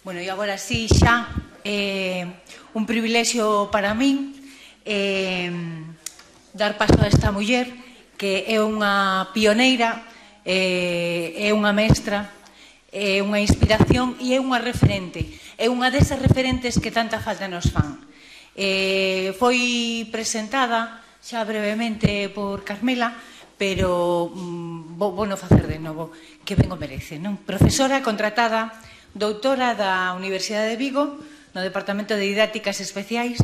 Bueno, e agora sí, xa, un privilexio para min dar paso a esta muller que é unha pioneira, é unha mestra, é unha inspiración e é unha referente. É unha desas referentes que tanta falta nos fan. Foi presentada xa brevemente por Carmela, pero vou non facer de novo, que ben o merece, non? Profesora contratada, doutora da Universidade de Vigo, no Departamento de Didácticas Especiais,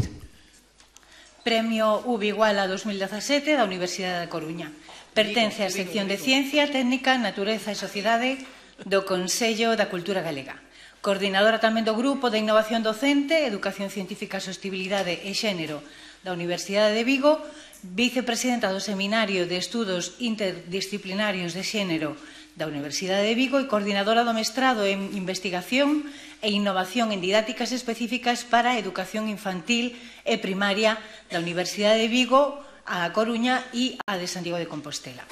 Premio UB Iguala 2017 da Universidade da Coruña. Pertence á sección de Ciencia, Técnica, Natureza e Sociedade do Consello da Cultura Galega. Coordinadora tamén do Grupo de Innovación Docente, Educación Científica, Sostibilidade e Xénero da Universidade de Vigo, vicepresidenta do Seminario de Estudos Interdisciplinarios de Xénero da Universidade de Vigo e coordinadora do mestrado en Investigación e Innovación en Didácticas Específicas para a Educación Infantil e Primaria da Universidade de Vigo, a Coruña e a de Santiago de Compostela.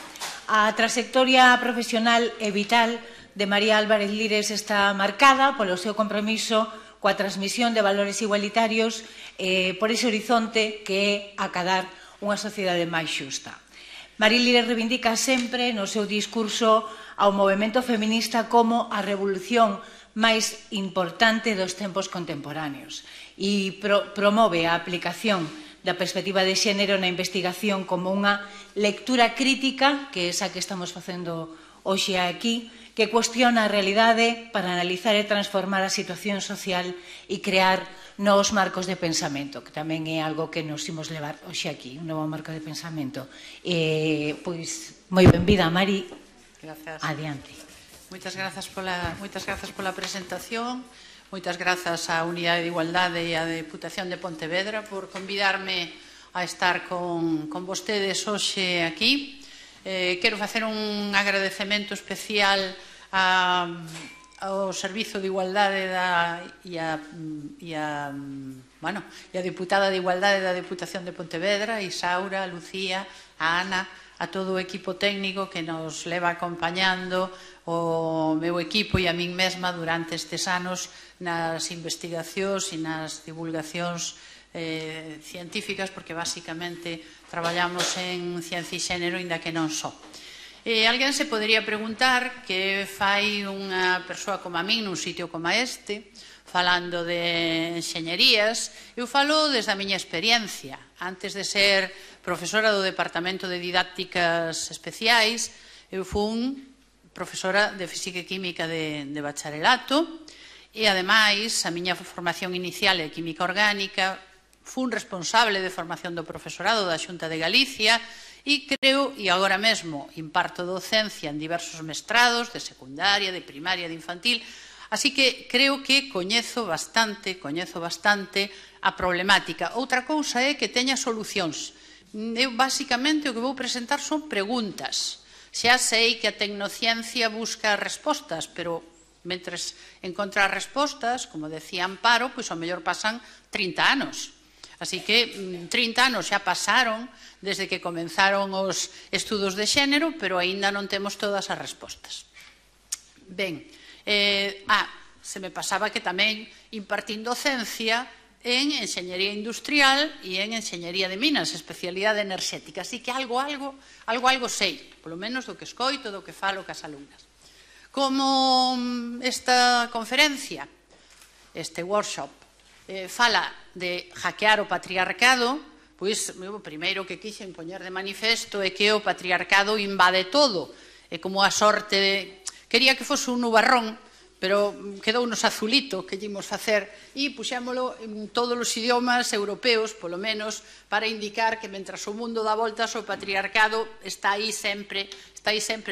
A trayectoria profesional e vital de María Álvarez Lires está marcada polo seu compromiso coa transmisión de valores igualitarios por ese horizonte que é acadar unha sociedade máis xusta. María Lires reivindica sempre no seu discurso ao movemento feminista como a revolución máis importante dos tempos contemporáneos e promove a aplicación da perspectiva de xénero na investigación como unha lectura crítica, que é esa que estamos facendo hoxe aquí, que cuestiona a realidade para analizar e transformar a situación social e crear novos marcos de pensamento, que tamén é algo que nos imos levar hoxe aquí, un novo marco de pensamento. Pois, moi benvida, Mari. Gracias. Adiante. Moitas grazas pola presentación, moitas grazas á Unidade de Igualdade e á Deputación de Pontevedra por convidarme a estar con vostedes hoxe aquí. Quero facer un agradecemento especial ao Servizo de Igualdade e a Deputada de Igualdade da Deputación de Pontevedra, a Isaura, a Lucía, a Ana, a todo o equipo técnico que nos leva acompañando o meu equipo e a min mesma durante estes anos nas investigacións e nas divulgacións científicas, porque basicamente traballamos en ciencia e xénero, inda que non só. Alguén se podería preguntar que fai unha persoa como a min nun sitio como este, falando de enxeñerías. Eu falo desde a miña experiencia. Antes de ser profesora do Departamento de Didácticas Especiais, eu fui profesora de Física e Química de bacharelato e, ademais, a miña formación inicial é Química Orgánica, fui responsable de formación do profesorado da Xunta de Galicia e creo, e agora mesmo, imparto docencia en diversos mestrados de secundaria, de primaria, de infantil. Así que creo que coñezo bastante a problemática. Outra cousa é que teña solucións. Eu, basicamente, o que vou presentar son preguntas. Xa sei que a tecnociencia busca respostas, pero mentres encontrar respostas, como decía Amparo, pois ao mellor pasan 30 anos. Así que 30 anos xa pasaron desde que comenzaron os estudos de xénero, pero aínda non temos todas as respostas. Ben, se me pasaba que tamén impartín docencia en enxeñería industrial e en enxeñería de minas, especialidade enerxética. Así que algo sei, polo menos do que escoito, do que falo cas alumnas. Como esta conferencia, este workshop, fala de hackear o patriarcado, pois o primeiro que quixen poñer de manifesto é que o patriarcado invade todo. É como a sorte quería que fose un nubarrón, pero quedounos azulito que lle imos facer e puxémolo en todos os idiomas europeos, polo menos, para indicar que mentras o mundo dá voltas o patriarcado está aí sempre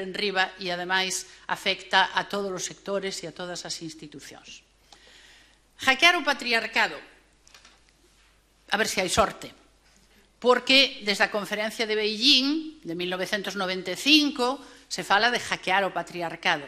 en riba e, ademais, afecta a todos os sectores e a todas as institucións. Hackear o patriarcado, a ver se hai sorte, porque desde a conferencia de Beijing de 1995 se fala de hackear o patriarcado.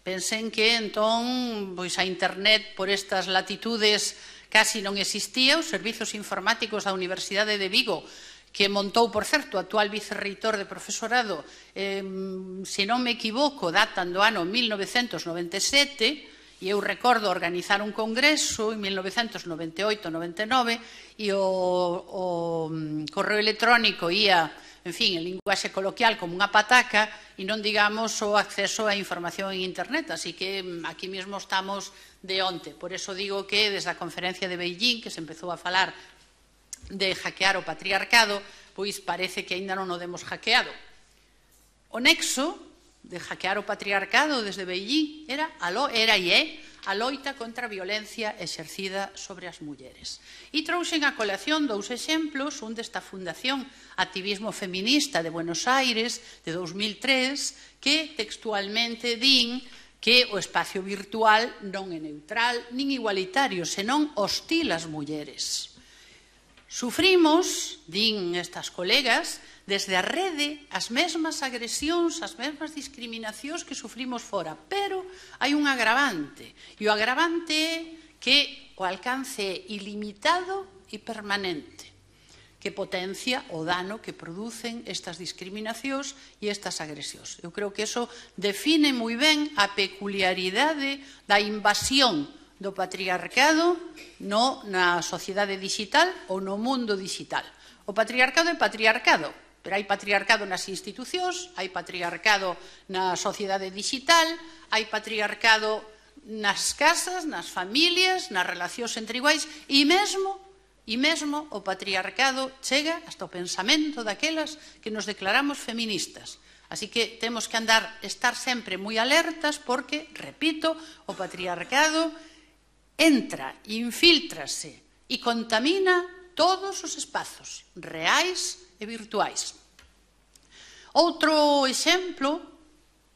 Pensen que entón a internet por estas latitudes casi non existía. Os servizos informáticos da Universidade de Vigo, que montou, por certo, o actual vicerreitor de profesorado, se non me equivoco, datan do ano 1997, E eu recordo organizar un congreso en 1998-99 e o correo electrónico ia, en fin, en linguaxe coloquial como unha pataca e non digamos o acceso á información en internet. Así que aquí mesmo estamos de onte. Por eso digo que desde a conferencia de Beijing, que se empezou a falar de hackear o patriarcado, pois parece que aínda non o demos hackeado. O nexo de hackear o patriarcado desde Beijing era e é a loita contra a violencia exercida sobre as mulleres. E trouxen a colación dous exemplos, un desta Fundación Activismo Feminista de Buenos Aires, de 2003, que textualmente din que o espacio virtual non é neutral nin igualitario, senón hostil ás mulleres. Sufrimos, din estas colegas, desde a rede as mesmas agresións, as mesmas discriminacións que sufrimos fora, pero hai un agravante, e o agravante é que o alcance é ilimitado e permanente, que potencia o dano que producen estas discriminacións e estas agresións. Eu creo que iso define moi ben a peculiaridade da invasión do patriarcado na sociedade digital ou no mundo digital. O patriarcado é patriarcado, pero hai patriarcado nas institucións, hai patriarcado na sociedade digital, hai patriarcado nas casas, nas familias, nas relacións entre iguais, e mesmo o patriarcado chega hasta o pensamento daquelas que nos declaramos feministas. Así que temos que estar sempre moi alertas porque, repito, o patriarcado entra, infíltrase e contamina todos os espazos reais e virtuais. Outro exemplo,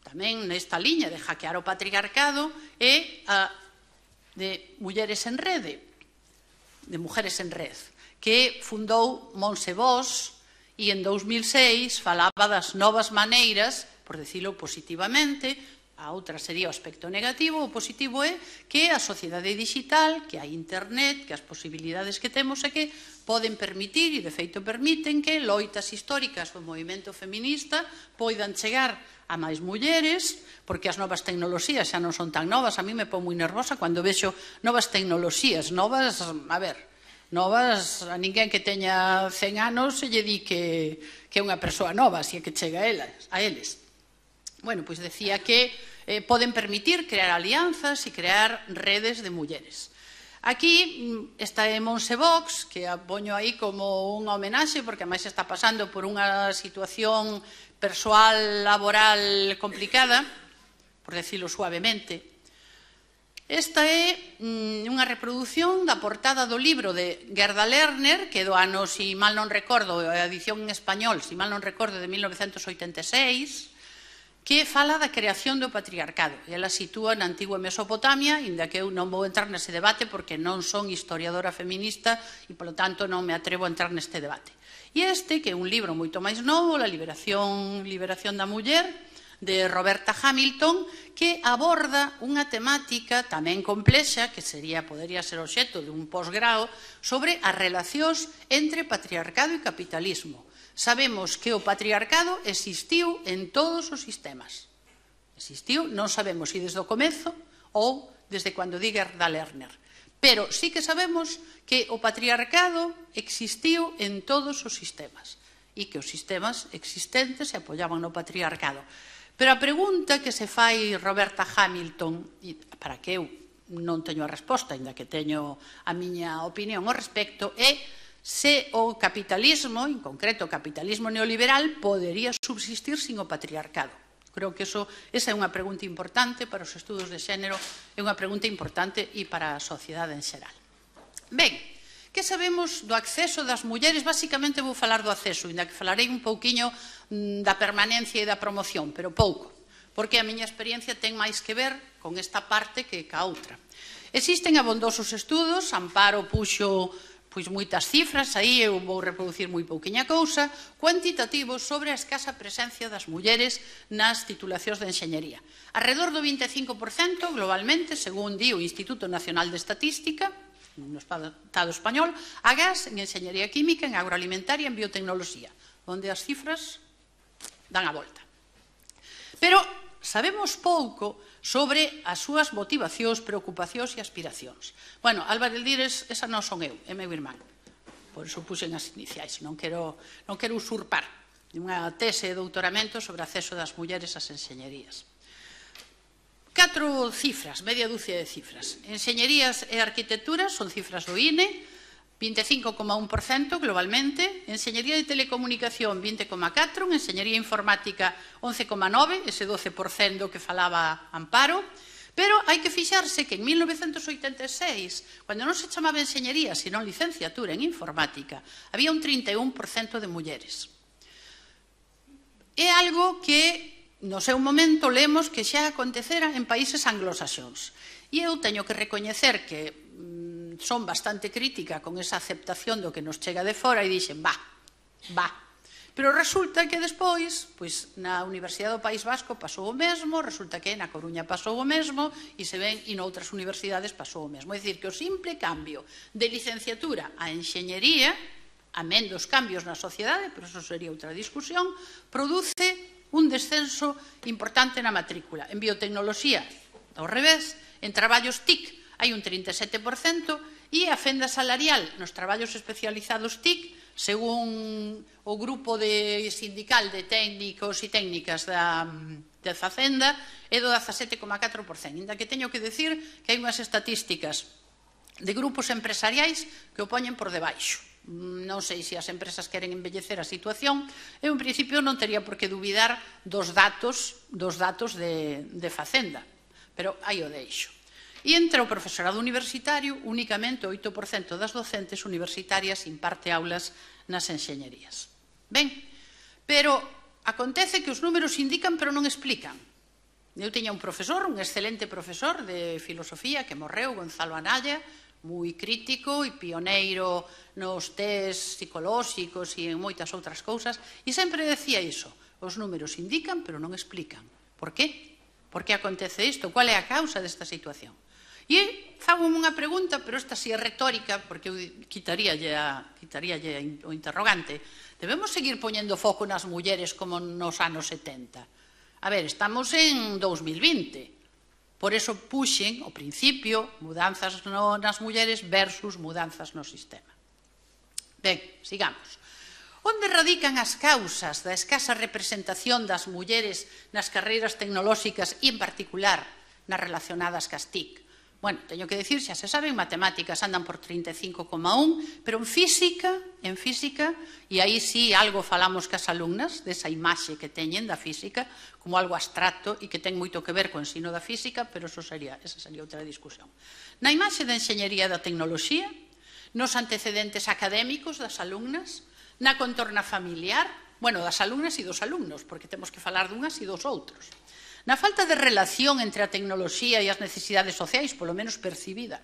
tamén nesta liña de hackear o patriarcado, é a de Mulleres en Rede, de Mujeres en Red, que fundou Montse Bosch e en 2006 falaba das novas maneiras, por decirlo positivamente. A outra sería o aspecto negativo. O positivo é que a sociedade digital, que a internet, que as posibilidades que temos é que poden permitir, e de feito permiten, que loitas históricas do movimento feminista poidan chegar a máis mulleres, porque as novas tecnoloxías xa non son tan novas. A mí me pon moi nervosa cando vexo novas tecnoloxías, novas, novas, a ninguén que teña 100 anos se lle di que é unha persoa nova, así é que chega a eles. Bueno, pois decía que poden permitir crear alianzas e crear redes de mulleres. Aquí está Montse Bosch, que a poño aí como unha homenaxe, porque máis está pasando por unha situación persoal, laboral complicada, por decirlo suavemente. Esta é unha reproducción da portada do libro de Gerda Lerner, que do ano, se mal non recordo, a edición en español, se mal non recordo, de 1986, que fala da creación do patriarcado. Ela sitúa na antigua Mesopotamia, inda que eu non vou entrar nese debate porque non son historiadora feminista e, polo tanto, non me atrevo a entrar neste debate. E este, que é un libro moito máis novo, La liberación da muller, de Roberta Hamilton, que aborda unha temática tamén complexa, que podería ser obxecto de un posgrao, sobre as relacións entre patriarcado e capitalismo. Sabemos que o patriarcado existiu en todos os sistemas. Existiu, non sabemos se desde o comezo ou desde cando di Gerda Lerner. Pero sí que sabemos que o patriarcado existiu en todos os sistemas e que os sistemas existentes se apoiaban no patriarcado. Pero a pregunta que se fai Roberta Hamilton, e para que eu non teño a resposta, ainda que teño a miña opinión ao respecto, é se o capitalismo, en concreto o capitalismo neoliberal, podería subsistir sin o patriarcado. Creo que esa é unha pregunta importante para os estudos de xénero, é unha pregunta importante e para a sociedade en xeral. Ben, que sabemos do acceso das mulleres? Basicamente vou falar do acceso, ainda que falarei un pouquiño da permanencia e da promoción, pero pouco, porque a miña experiencia ten máis que ver con esta parte que ca outra. Existen abondosos estudos, Amparo puxo moitas cifras, aí eu vou reproducir moi pouquiña cousa, cuantitativos sobre a escasa presencia das mulleres nas titulacións de enxeñería. Arredor do 25% globalmente, según di o Instituto Nacional de Estatística, no Estado español, agás en enxeñería química, en agroalimentaria e en biotecnoloxía, onde as cifras dan a volta. Pero sabemos pouco sobre as súas motivacións, preocupacións e aspiracións. Bueno, Álvaro Eldires, esa non son eu, é meu irmán. Por iso puxen as iniciais, non quero usurpar unha tese de doutoramento sobre acceso das mulleres ás enxeñerías. 4 cifras, media dúcia de cifras. Enxeñerías e arquitectura son cifras do INE, 25,1% globalmente, enxeñería de telecomunicación 20,4%, enxeñería informática 11,9%, ese 12% que falaba Amparo, pero hai que fixarse que en 1986, cando non se chamaba enxeñería, senón licenciatura en informática, había un 31% de mulleres. É algo que no seu momento lemos que xa acontecera en países anglosaxóns. E eu teño que recoñecer que son bastante crítica con esa aceptación do que nos chega de fora e dixen, va. Pero resulta que despois, pois na Universidade do País Vasco pasou o mesmo, resulta que na Coruña pasou o mesmo e se ven e noutras universidades pasou o mesmo. É dicir, que o simple cambio de licenciatura a enxeñería, amén dos cambios na sociedade, pero eso sería outra discusión, produce un descenso importante na matrícula. En biotecnoloxía, ao revés, en traballos TIC hai un 37% e a fenda salarial nos traballos especializados TIC, según o grupo sindical de técnicos e técnicas da Facenda, é do 17,4%. Inda que teño que decir que hai unhas estatísticas de grupos empresariais que o poñen por debaixo. Non sei se as empresas queren embellecer a situación. Eu, en principio, non tería por que dubidar dos datos de Facenda, pero aí o deixo. E entre o profesorado universitario, únicamente o 8% das docentes universitarias imparte aulas nas enxeñerías. Ben, pero acontece que os números indican, pero non explican. Eu tiña un profesor, un excelente profesor de filosofía que morreu, Gonzalo Anaya, moi crítico e pioneiro nos test psicolóxicos e en moitas outras cousas, e sempre decía iso, os números indican, pero non explican. Por qué? Por que acontece isto? Qual é a causa desta situación? E fago unha pregunta, pero esta sí é retórica, porque eu quitaríalle o interrogante. Debemos seguir poñendo foco nas mulleres como nos anos 70? A ver, estamos en 2020. Por eso puxen, ao principio, mudanzas nas mulleres versus mudanzas no sistema. Ben, sigamos. Onde radican as causas da escasa representación das mulleres nas carreiras tecnolóxicas e, en particular, nas relacionadas cas TIC? Bueno, teño que dicir, xa se sabe, en matemáticas andan por 35,1, pero en física, e aí sí algo falamos cas alumnas, desa imaxe que teñen da física, como algo abstracto e que ten moito que ver co ensino da física, pero esa sería outra discusión. Na imaxe da enxeñería da tecnoloxía, nos antecedentes académicos das alumnas, na contorna familiar, bueno, das alumnas e dos alumnos, porque temos que falar dunhas e dos outros. Na falta de relación entre a tecnoloxía e as necesidades sociais, polo menos percibida.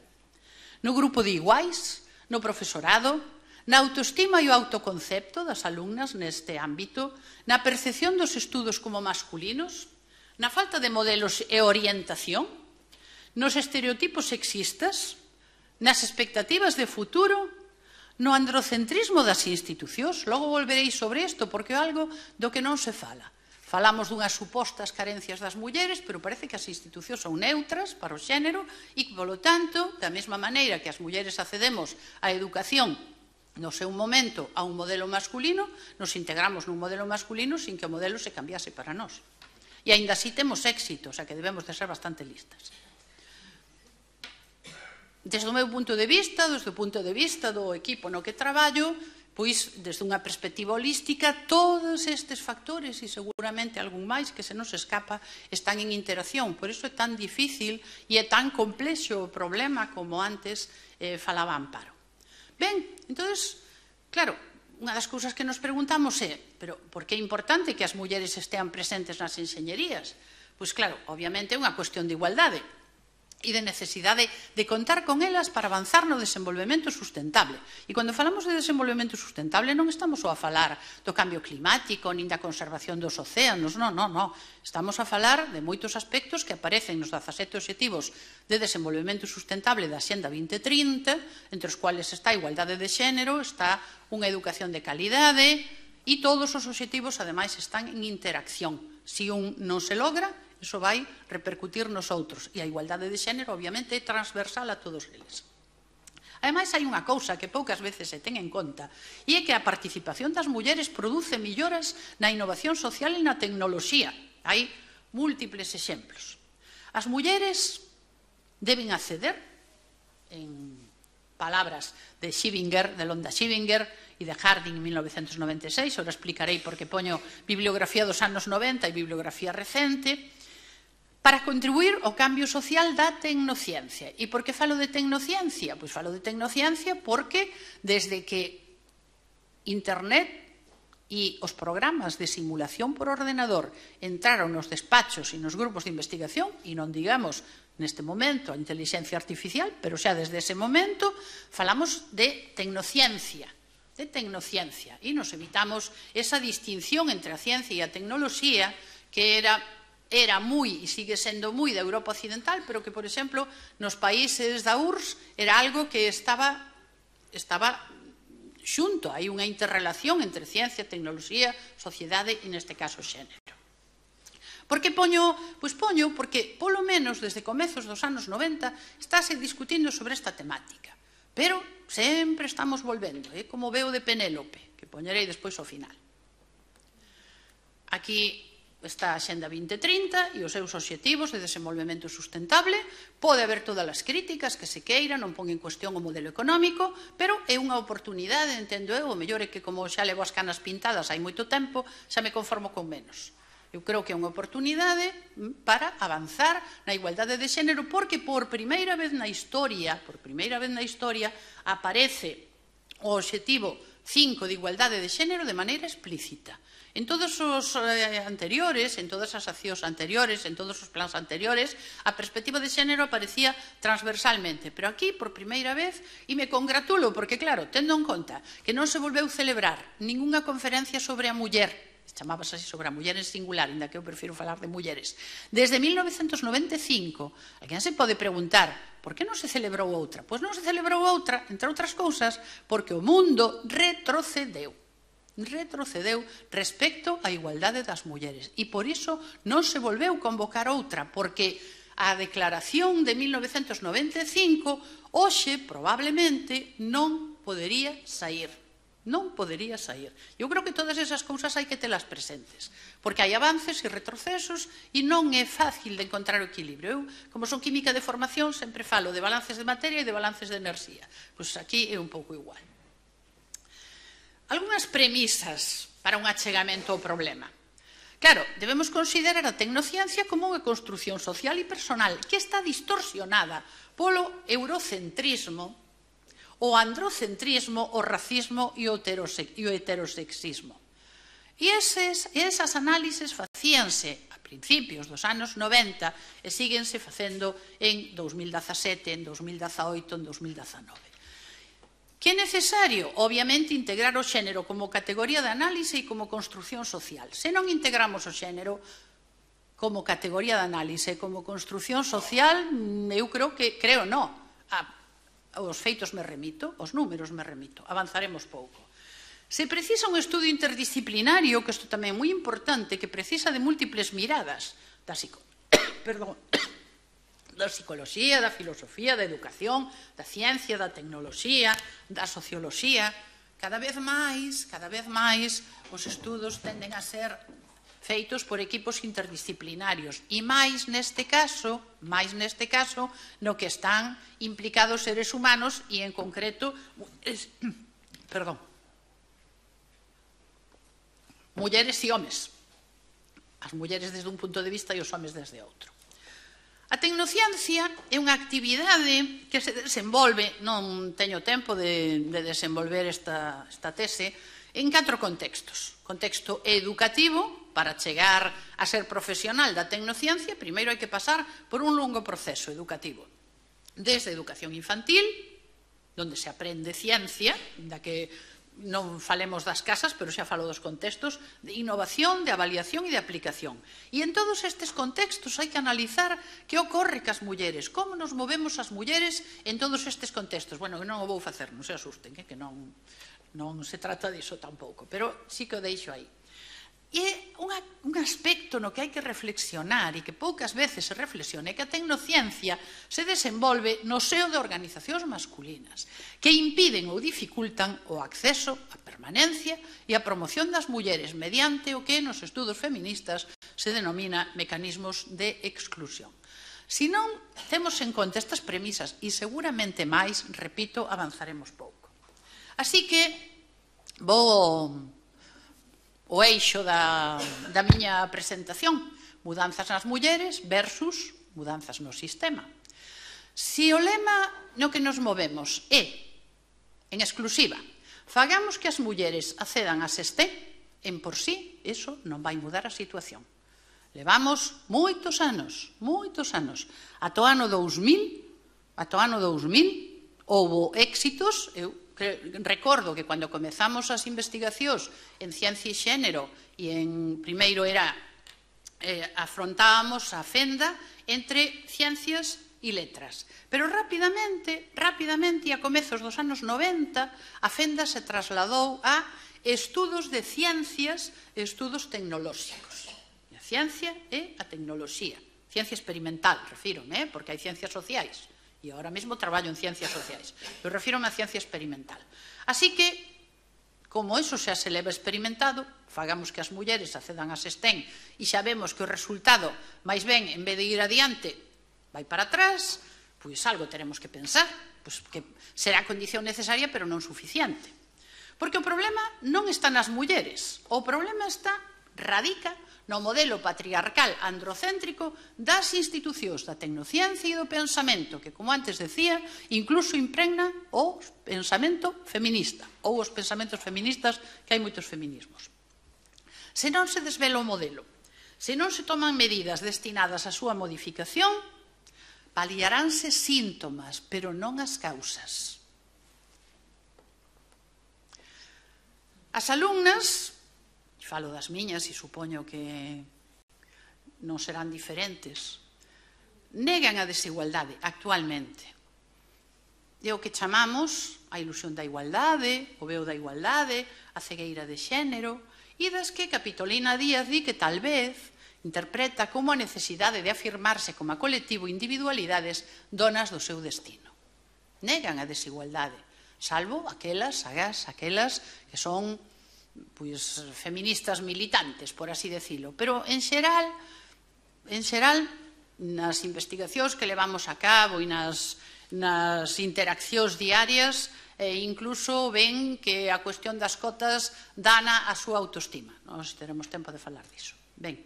No grupo de iguais, no profesorado, na autoestima e o autoconcepto das alumnas neste ámbito, na percepción dos estudos como masculinos, na falta de modelos e orientación, nos estereotipos sexistas, nas expectativas de futuro, no androcentrismo das institucións. Logo volverei sobre isto, porque é algo do que non se fala. Falamos dunhas supostas carencias das mulleres, pero parece que as institucións son neutras para o xénero e, polo tanto, da mesma maneira que as mulleres accedemos á educación no seu momento a un modelo masculino, nos integramos nun modelo masculino sin que o modelo se cambiase para nós. E aínda así temos éxito, o sea que debemos de ser bastante listas. Desde o meu punto de vista, desde o punto de vista do equipo no que traballo, pois, desde unha perspectiva holística, todos estes factores e seguramente algún máis que se nos escapa están en interacción. Por iso é tan difícil e é tan complexo o problema como antes falaba Amparo. Ben, entonces, claro, unha das cousas que nos preguntamos é, pero por que é importante que as mulleres estean presentes nas enxeñerías? Pois claro, obviamente é unha cuestión de igualdade e de necesidade de contar con elas para avanzar no desenvolvemento sustentable. E cando falamos de desenvolvemento sustentable non estamos só a falar do cambio climático nin da conservación dos océanos, non. Estamos a falar de moitos aspectos que aparecen nos 17 obxectivos de desenvolvemento sustentable da Xenda 2030, entre os cuales está a igualdade de xénero, está unha educación de calidade e todos os obxectivos, ademais, están en interacción. Se un non se logra, iso vai repercutir nos outros. E a igualdade de xénero, obviamente, é transversal a todos eles. Ademais, hai unha cousa que poucas veces se ten en conta, e é que a participación das mulleres produce melloras na innovación social e na tecnoloxía. Hai múltiples exemplos. As mulleres deben acceder, en palabras de Schivinger, de Londa Schivinger e de Harding en 1996, ora explicarei porque poño bibliografía dos anos 90 e bibliografía recente, para contribuir ao cambio social da tecnociencia. E por que falo de tecnociencia? Pois falo de tecnociencia porque desde que Internet e os programas de simulación por ordenador entraron nos despachos e nos grupos de investigación, e non digamos neste momento a inteligencia artificial, pero xa desde ese momento falamos de tecnociencia, e nos evitamos esa distinción entre a ciencia e a tecnoloxía que era moi e sigue sendo moi da Europa occidental, pero que, por exemplo, nos países da URSS era algo que estaba xunto, hai unha interrelación entre ciencia, tecnoloxía, sociedade e, neste caso, xénero. Por que poño? Pois poño porque, polo menos, desde comezos dos anos 90, estáse discutindo sobre esta temática. Pero sempre estamos volvendo, como veo de Penélope, que poñerei despois ao final. Aquí está a Xenda 2030 e os seus obxectivos de desenvolvemento sustentable. Pode haber todas as críticas que se queira, non pon en cuestión o modelo económico, pero é unha oportunidade, entendo eu, o mellor é que como xa levo as canas pintadas hai moito tempo, xa me conformo con menos. Eu creo que é unha oportunidade para avanzar na igualdade de xénero, porque por primeira vez na historia, aparece o obxectivo 5 de igualdade de xénero de maneira explícita. En todos os anteriores, en todas as accións anteriores, en todos os plans anteriores, a perspectiva de xénero aparecía transversalmente. Pero aquí, por primeira vez, e me congratulo, porque, claro, tendo en conta que non se volveu celebrar ningunha conferencia sobre a muller, chamábase así sobre a muller en singular, ainda que eu prefiro falar de mulleres, desde 1995, alguén se pode preguntar por que non se celebrou outra? Pois non se celebrou outra, entre outras cousas, porque o mundo retrocedeu respecto á igualdade das mulleres. E por iso non se volveu convocar outra, porque a declaración de 1995 hoxe probablemente non podería sair. Eu creo que todas esas cousas hai que telas presentes, porque hai avances e retrocesos e non é fácil de encontrar o equilibrio. Eu, como son química de formación, sempre falo de balances de materia e de balances de enerxía. Pois aquí é un pouco igual. Algúnas premisas para un achegamento ao problema. Claro, debemos considerar a tecnociencia como unha construción social e personal que está distorsionada polo eurocentrismo, o androcentrismo, o racismo e o heterosexismo. E esas análises facíanse a principios dos anos 90 e síguense facendo en 2017, en 2018, en 2019. Que é necesario, obviamente, integrar o xénero como categoría de análise e como construción social. Se non integramos o xénero como categoría de análise e como construción social, eu creo non. Os feitos me remito, os números me remito, avanzaremos pouco. Se precisa un estudo interdisciplinario, que isto tamén é moi importante, que precisa de múltiples miradas da psicoloxía, da filosofía, da educación, da ciencia, da tecnoloxía, da socioloxía, cada vez máis os estudos tenden a ser feitos por equipos interdisciplinarios e máis neste caso no que están implicados seres humanos e en concreto mulleres e homes, as mulleres desde un punto de vista e os homes desde outro. A tecnociencia é unha actividade que se desenvolve, non teño tempo de desenvolver esta tese, en 4 contextos. Contexto educativo, para chegar a ser profesional da tecnociencia, primeiro hai que pasar por un longo proceso educativo. Desde a educación infantil, onde se aprende ciencia, da que non falemos das casas, pero xa falo dos contextos, de innovación, de avaliación e de aplicación. E en todos estes contextos hai que analizar que ocorre cas mulleres, como nos movemos as mulleres en todos estes contextos. Bueno, non o vou facer, non se asusten, que non se trata diso tampouco, pero sí que o deixo aí. E un aspecto no que hai que reflexionar e que poucas veces se reflexiona é que a tecnociencia se desenvolve no seo de organizacións masculinas que impiden ou dificultan o acceso, a permanencia e a promoción das mulleres mediante o que nos estudos feministas se denomina mecanismos de exclusión. Se non temos en conta estas premisas e seguramente máis, repito, avanzaremos pouco. Así que vou o eixo da miña presentación, mudanzas nas mulleres versus mudanzas no sistema. Se o lema no que nos movemos é, en exclusiva, fagamos que as mulleres accedan a SESTEM, en por sí, eso non vai mudar a situación. Levamos moitos anos, ata o ano 2000, houbo éxitos. Eu recordo que cando comezamos as investigacións en ciencia e xénero e primeiro afrontábamos a fenda entre ciencias e letras, pero rapidamente e a comezos dos anos 90 a fenda se trasladou a estudos de ciencias e estudos tecnolóxicos. A ciencia e a tecnoloxía, ciencia experimental, refírome, porque hai ciencias sociais. E agora mesmo traballo en ciencias sociais. Eu refírome a ciencia experimental. Así que, como eso xa se leva experimentado, fagamos que as mulleres accedan a SESTEM e xa vemos que o resultado, máis ben, en vez de ir adiante, vai para atrás, pois algo teremos que pensar, pois que será a condición necesaria, pero non suficiente. Porque o problema non está nas mulleres, o problema radica no modelo patriarcal androcéntrico das institucións da tecnociencia e do pensamento, que, como antes decía, incluso impregna o pensamento feminista, ou os pensamentos feministas, que hai moitos feminismos. Se non se desvela o modelo, se non se toman medidas destinadas á súa modificación, paliaránse síntomas, pero non as causas. As alumnas, falo das miñas e supoño que non serán diferentes, negan a desigualdade actualmente. É o que chamamos a ilusión da igualdade, o veo da igualdade, a cegueira de xénero, e das que Capitolina Díaz di que tal vez interpreta como a necesidade de afirmarse como a colectivo individualidades donas do seu destino. Negan a desigualdade, salvo aquelas que son feministas militantes, por así decirlo. Pero, en xeral, nas investigacións que levamos a cabo e nas interaccións diarias, incluso ven que a cuestión das cotas dana a súa autoestima. Nós teremos tempo de falar diso. Ben,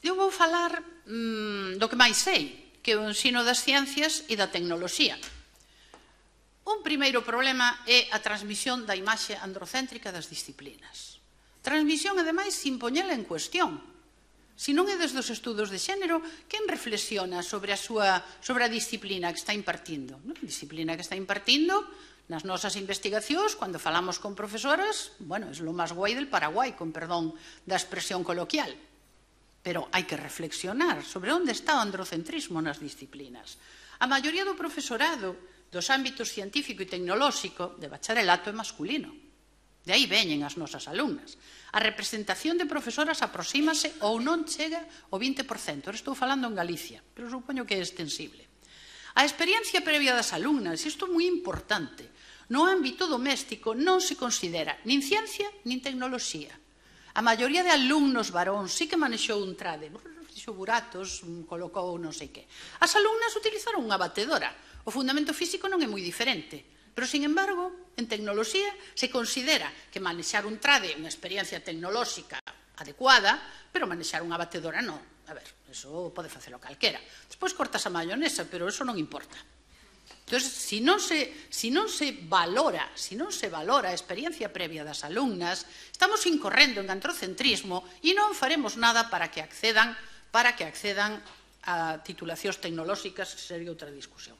eu vou falar do que máis sei, que é o ensino das ciencias e da tecnoloxía. Un primeiro problema é a transmisión da imaxe androcéntrica das disciplinas. Transmisión, ademais, sin poñela en cuestión. Se non é desde os estudos de xénero, quen reflexiona sobre a disciplina que está impartindo? A disciplina que está impartindo nas nosas investigacións, cando falamos con profesoras, bueno, é lo máis guai del Paraguai, con perdón da expresión coloquial. Pero hai que reflexionar sobre onde está o androcentrismo nas disciplinas. A maioría do profesorado dos ámbitos científico e tecnolóxico de bacharelato é masculino. De aí veñen as nosas alumnas. A representación de profesoras aproxímase ou non chega ao 20%. Ahora estou falando en Galicia, pero supoño que é extensible. A experiencia previa das alumnas, isto é moi importante, no ámbito doméstico non se considera nin ciencia nin tecnoloxía. A maioría de alumnos varóns sí que manexou un trade, fixo buratos, colocou non sei que. As alumnas utilizaron unha batedora. O fundamento físico non é moi diferente, pero, sin embargo, en tecnoloxía se considera que manexar un trade é unha experiencia tecnolóxica adecuada, pero manexar unha batedora non. A ver, eso pode facelo calquera. Despois cortas a mayonesa, pero eso non importa. Entón, se non se valora a experiencia previa das alumnas, estamos incorrendo en androcentrismo e non faremos nada para que accedan a titulacións tecnolóxicas, que sería outra discusión.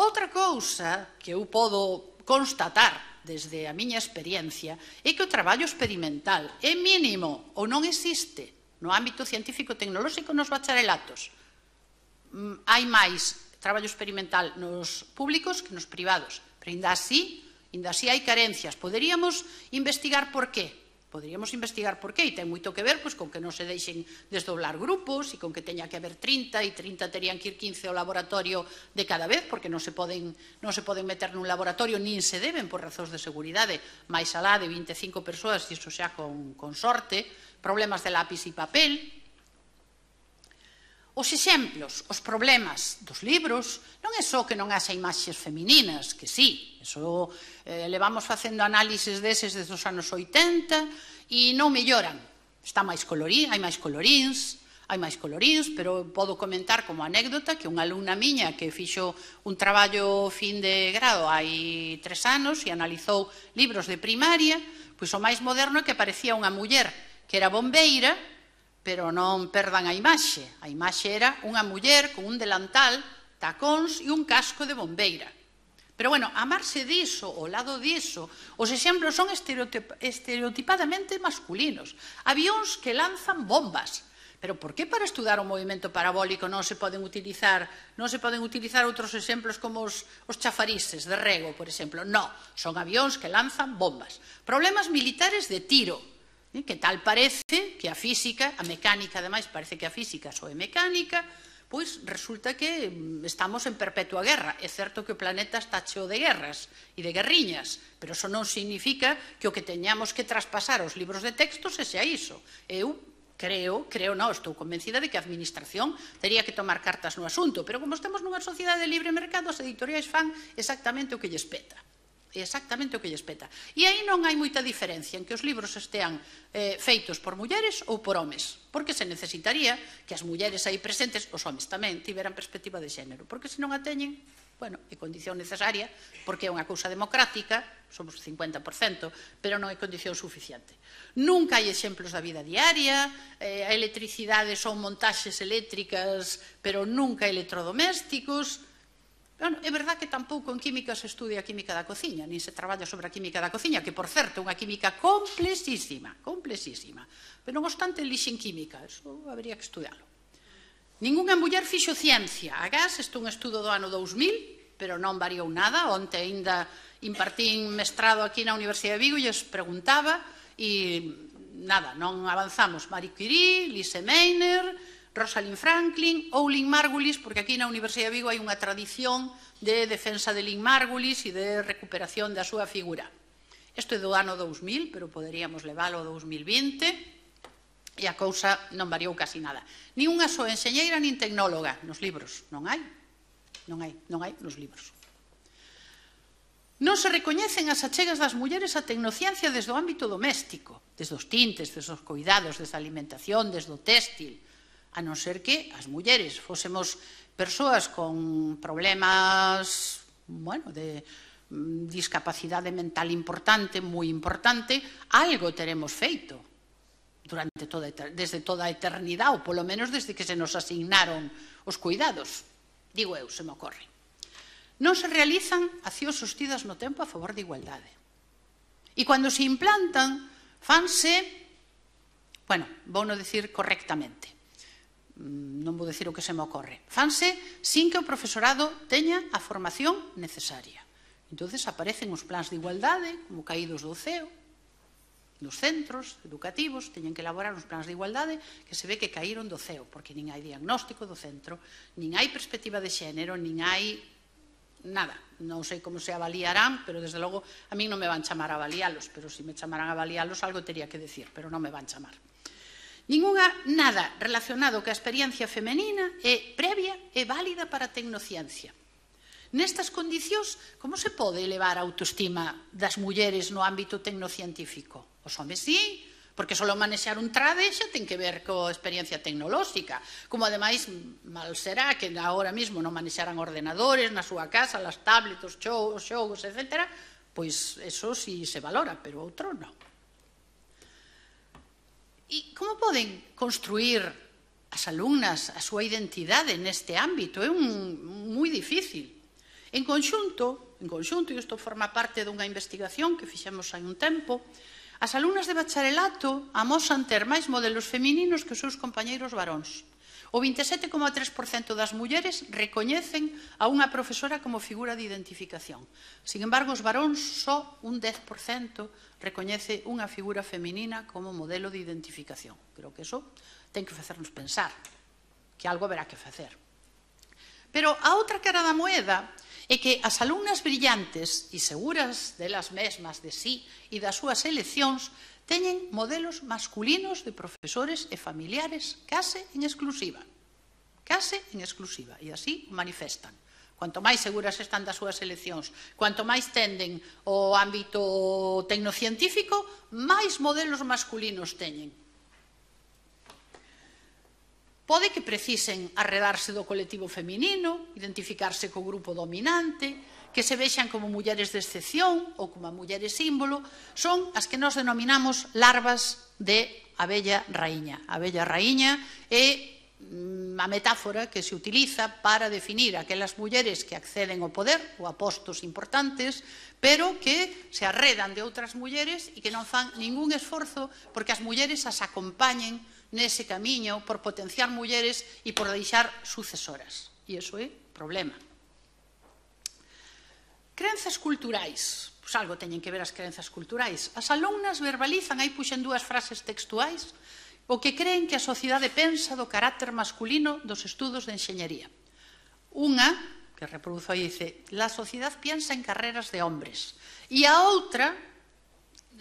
Outra cousa que eu podo constatar desde a miña experiencia é que o traballo experimental é mínimo ou non existe no ámbito científico-tecnolóxico nos bacharelatos. Hai máis traballo experimental nos públicos que nos privados, pero ainda así Ainda así hai carencias. Poderíamos investigar por qué. Poderíamos investigar por qué, e ten moito que ver con que non se deixen desdoblar grupos e con que teña que haber 30 e 30 terían que ir 15 ao laboratorio de cada vez, porque non se poden meter nun laboratorio, nin se deben por razóns de seguridade, máis alá de 25 persoas, e iso xa con sorte, problemas de lápis e papel. Os exemplos, os problemas dos libros, non é só que non haxa imaxes femininas, que sí, eso levamos facendo análises deses desde os anos 80 e non melloran. Hai máis coloríns, pero podo comentar como anécdota que unha alumna miña que fixo un traballo fin de grado hai 3 anos e analizou libros de primaria, pois o máis moderno é que parecía unha muller que era bombeira, pero non perdan a imaxe. A imaxe era unha muller con un delantal, tacóns e un casco de bombeira. Pero, bueno, a marxe diso, ao lado diso, os exemplos son estereotipadamente masculinos. Avións que lanzan bombas. Pero por que para estudar o movimento parabólico non se poden utilizar outros exemplos como os chafarises de rego, por exemplo? Non, son avións que lanzan bombas. Problemas militares de tiro. Que tal parece que a física, a mecánica, ademais, parece que a física só é mecánica, pois resulta que estamos en perpetua guerra. É certo que o planeta está cheo de guerras e de guerriñas, pero eso non significa que o que teñamos que traspasar aos libros de texto sexa iso. Eu estou convencida de que a administración tería que tomar cartas no asunto, pero como estamos nunha sociedade de libre mercado, as editoriais fan exactamente o que lles peta. E aí non hai moita diferencia en que os libros estean feitos por mulleres ou por homes, porque se necesitaría que as mulleres aí presentes, os homes tamén, tiveran perspectiva de xénero, porque se non a teñen, bueno, é condición necesaria, porque é unha cousa democrática, somos 50%, pero non é condición suficiente. Nunca hai exemplos da vida diaria, a electricidade son montaxes eléctricas, pero nunca electrodomésticos. É verdad que tampouco en química se estudia a química da cociña, nin se traballa sobre a química da cociña, que, por certo, é unha química complexísima, pero non obstante elixen química, eso habría que estudiarlo. Ningunha muller fixo ciencia. Agás, isto é un estudo do ano 2000, pero non variou nada. Onte ainda impartín mestrado aquí na Universidade de Vigo e lles preguntaba e nada, non avanzamos. Marie Curie, Lise Meitner, Rosalind Franklin ou Lynn Margulis, porque aquí na Universidade de Vigo hai unha tradición de defensa de Lynn Margulis e de recuperación da súa figura. Isto é do ano 2000, pero poderíamos leválo ao 2020 e a cousa non variou casi nada. Ni unha só enxeñeira nin tecnóloga nos libros. Non hai nos libros. Non se recoñecen as achegas das mulleres á tecnociencia desde o ámbito doméstico, desde os tintes, desde os cuidados, desde a alimentación, desde o téxtil, a non ser que as mulleres fósemos persoas con problemas, de discapacidade mental importante, moi importante, algo teremos feito desde toda a eternidade, ou polo menos desde que se nos asignaron os cuidados. Digo eu, se me ocorre. Non se realizan accións sostidas no tempo a favor de igualdade. E cando se implantan, fanse, vouno dicir correctamente, non vou dicir o que se me ocorre, fanse sin que o profesorado teña a formación necesaria. Entón aparecen os plans de igualdade como caídos do ceo, nos centros educativos teñen que elaborar uns plans de igualdade que se ve que caíron do ceo, porque nin hai diagnóstico do centro, nin hai perspectiva de xénero, nin hai nada. Non sei como se avaliarán, pero desde logo a min non me van chamar a avalialos, pero se me chamaran a avalialos algo tería que decir, pero non me van chamar. Nada relacionado ca experiencia femenina é previa e válida para a tecnociencia. Nestas condicións, como se pode elevar a autoestima das mulleres no ámbito tecnocientífico? Os homes sí, porque só manexar un trade xa ten que ver coa experiencia tecnolóxica. Como, ademais, mal será que agora mesmo non manexaran ordenadores na súa casa, as tablets, os xogos, etc., pois eso sí se valora, pero outro non. E como poden construir as alumnas a súa identidade neste ámbito? É moi difícil. En conxunto, e isto forma parte dunha investigación que fixemos hai un tempo, as alumnas de bacharelato amosan ter máis modelos femininos que os seus compañeiros varóns. O 27,3% das mulleres recoñecen a unha profesora como figura de identificación. Sin embargo, os varóns só un 10% recoñece unha figura feminina como modelo de identificación. Creo que iso ten que facernos pensar que algo haberá que facer. Pero a outra cara da moeda é que as alumnas brillantes e seguras delas mesmas de sí e das súas eleccións teñen modelos masculinos de profesores e familiares case en exclusiva. Case en exclusiva. E así manifestan. Cuanto máis seguras están das súas eleccións, cuanto máis tenden ao ámbito tecnocientífico, máis modelos masculinos teñen. Pode que precisen arredarse do colectivo feminino, identificarse co grupo dominante, que se vexan como mulleres de excepción ou como mulleres símbolo, son as que nos denominamos larvas de abella raíña. A abella raíña é a metáfora que se utiliza para definir aquelas mulleres que acceden ao poder ou a postos importantes, pero que se arredan de outras mulleres e que non fan ningún esforzo porque as mulleres as acompañen nese camiño por potenciar mulleres e por deixar sucesoras. E iso é problema. Crenzas culturais. Pois algo teñen que ver as crenzas culturais. As alumnas verbalizan, aí puxen dúas frases textuais, o que creen que a sociedade pensa do carácter masculino dos estudos de enxeñería. Unha, que reproduzo aí, dice, la sociedad piensa en carreras de hombres. E a outra,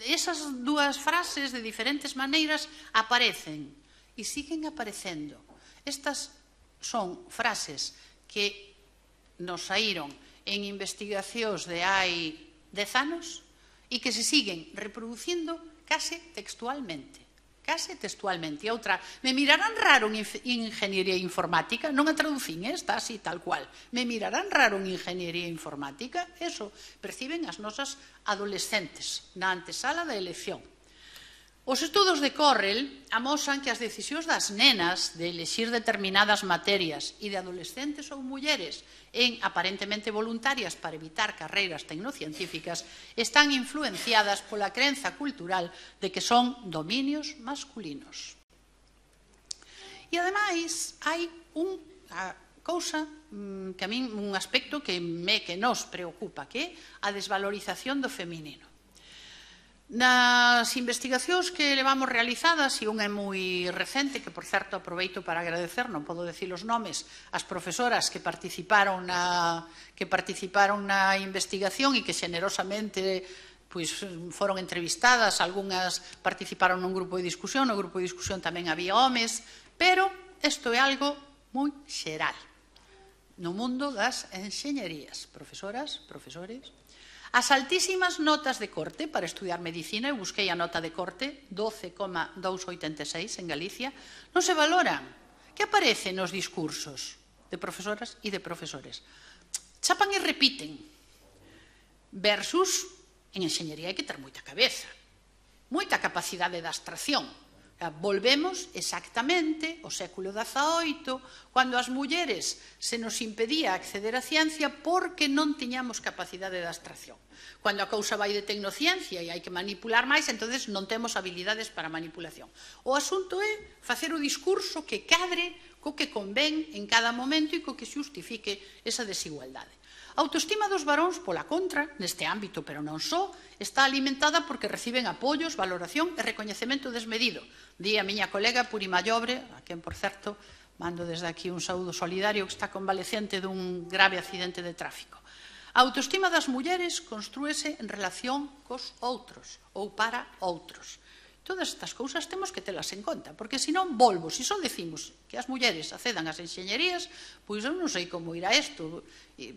esas dúas frases de diferentes maneiras aparecen e siguen aparecendo. Estas son frases que nos saíron en investigacións de hai 10 anos e que se siguen reproducindo case textualmente. Case textualmente. E outra, me mirarán raro en ingeniería informática? Non a traducín, está así, tal cual. Me mirarán raro en ingeniería informática? Eso perciben as nosas adolescentes na antesala da elección. Os estudos de Correll amosan que as decisións das nenas de elexir determinadas materias e de adolescentes ou mulleres en aparentemente voluntarias para evitar carreiras tecnocientíficas están influenciadas pola crenza cultural de que son dominios masculinos. E ademais hai unha cousa que a min, un aspecto que nos preocupa, que é a desvalorización do feminino. Nas investigacións que levamos realizadas, e unha é moi recente, que por certo aproveito para agradecer, non podo decir os nomes, as profesoras que participaron na investigación e que xenerosamente foron entrevistadas, algunhas participaron nun grupo de discusión, no grupo de discusión tamén había homes, pero isto é algo moi xeral no mundo das enxeñerías. Profesoras, profesores. As altísimas notas de corte para estudiar medicina, eu busquei a nota de corte, 12,286 en Galicia, non se valoran. Que aparece nos discursos de profesoras e de profesores? Chapan e repiten. Versus, en enxeñería hai que ter moita cabeza, moita capacidade de abstracción. Volvemos exactamente ao século XVIII, cando as mulleres se nos impedía acceder á ciencia porque non tiñamos capacidade de abstracción. Cando a cousa vai de tecnociencia e hai que manipular máis, entonces non temos habilidades para manipulación. O asunto é facer o discurso que cadre co que convén en cada momento e co que xustifique esa desigualdade. A autoestima dos varóns, pola contra, neste ámbito, pero non só, está alimentada porque reciben apoios, valoración e recoñecemento desmedido. Di a miña colega Puri Mallobre, a quen, por certo, mando desde aquí un saúdo solidario, que está convalecente dun grave accidente de tráfico. A autoestima das mulleres construese en relación cos outros ou para outros. Todas estas cousas temos que telas en conta, porque senón volvo, se só decimos que as mulleres accedan ás enxeñerías, pois eu non sei como irá isto.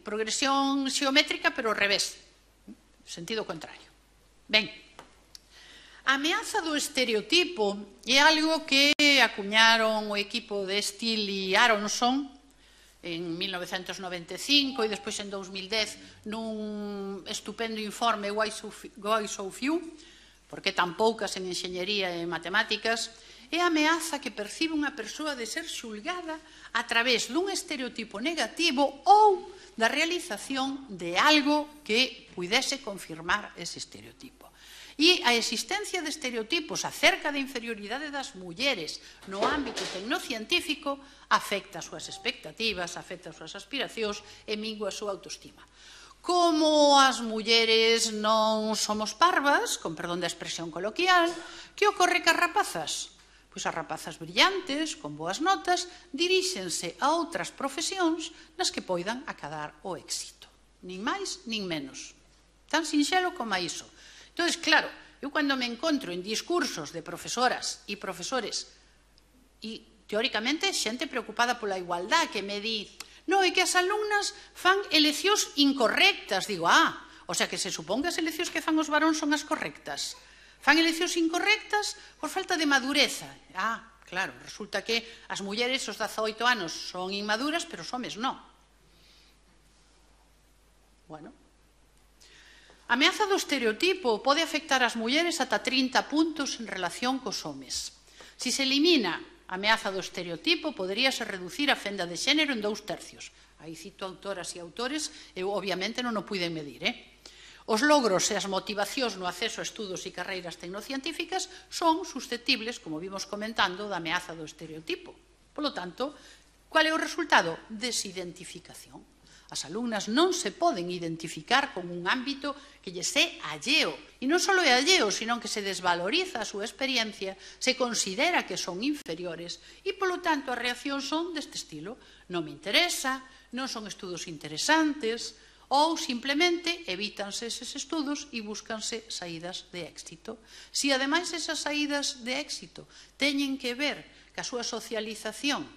Progresión xeométrica, pero ao revés, sentido contrario. Ben, a ameaza do estereotipo é algo que acuñaron o equipo de Steele e Aronson en 1995 e despois en 2010 nun estupendo informe Why So Few, porque tan poucas en enxeñería e matemáticas, é a ameaza que percibe unha persoa de ser xulgada a través dun estereotipo negativo ou da realización de algo que puidese confirmar ese estereotipo. E a existencia de estereotipos acerca da inferioridade das mulleres no ámbito tecnocientífico afecta as súas expectativas, afecta as súas aspiracións e mingua a súa autoestima. Como as mulleres non somos parvas, con perdón da expresión coloquial, que ocorre que as rapazas? Pois as rapazas brillantes, con boas notas, diríxense a outras profesións nas que poidan acadar o éxito. Nin máis, nin menos. Tan sinxelo como a iso. Entón, claro, eu cando me encontro en discursos de profesoras e profesores e, teóricamente, xente preocupada pola igualdade que me di non, é que as alumnas fan eleccións incorrectas. Digo, o sea que se supón que as eleccións que fan os varóns son as correctas. Fan eleccións incorrectas por falta de madureza. Claro, resulta que as mulleres aos 18 anos son inmaduras, pero os homes non. Bueno. A ameaza do estereotipo pode afectar as mulleres ata 30 puntos en relación cos homes. Se se elimina a ameaza do estereotipo, poderíase reducir a fenda de xénero en 2/3. Aí cito autoras e autores, eu obviamente non o puiden medir. Os logros e as motivacións no acceso a estudos e carreiras tecnocientíficas son susceptibles, como vimos comentando, da ameaza do estereotipo. Polo tanto, qual é o resultado? Desidentificación. As alumnas non se poden identificar con un ámbito que lles é alleo. E non só é alleo, sino que se desvaloriza a súa experiencia, se considera que son inferiores e, polo tanto, as reaccións son deste estilo. Non me interesa, non son estudos interesantes, ou simplemente evítanse eses estudos e búscanse saídas de éxito. Se, ademais, esas saídas de éxito teñen que ver ca súa socialización,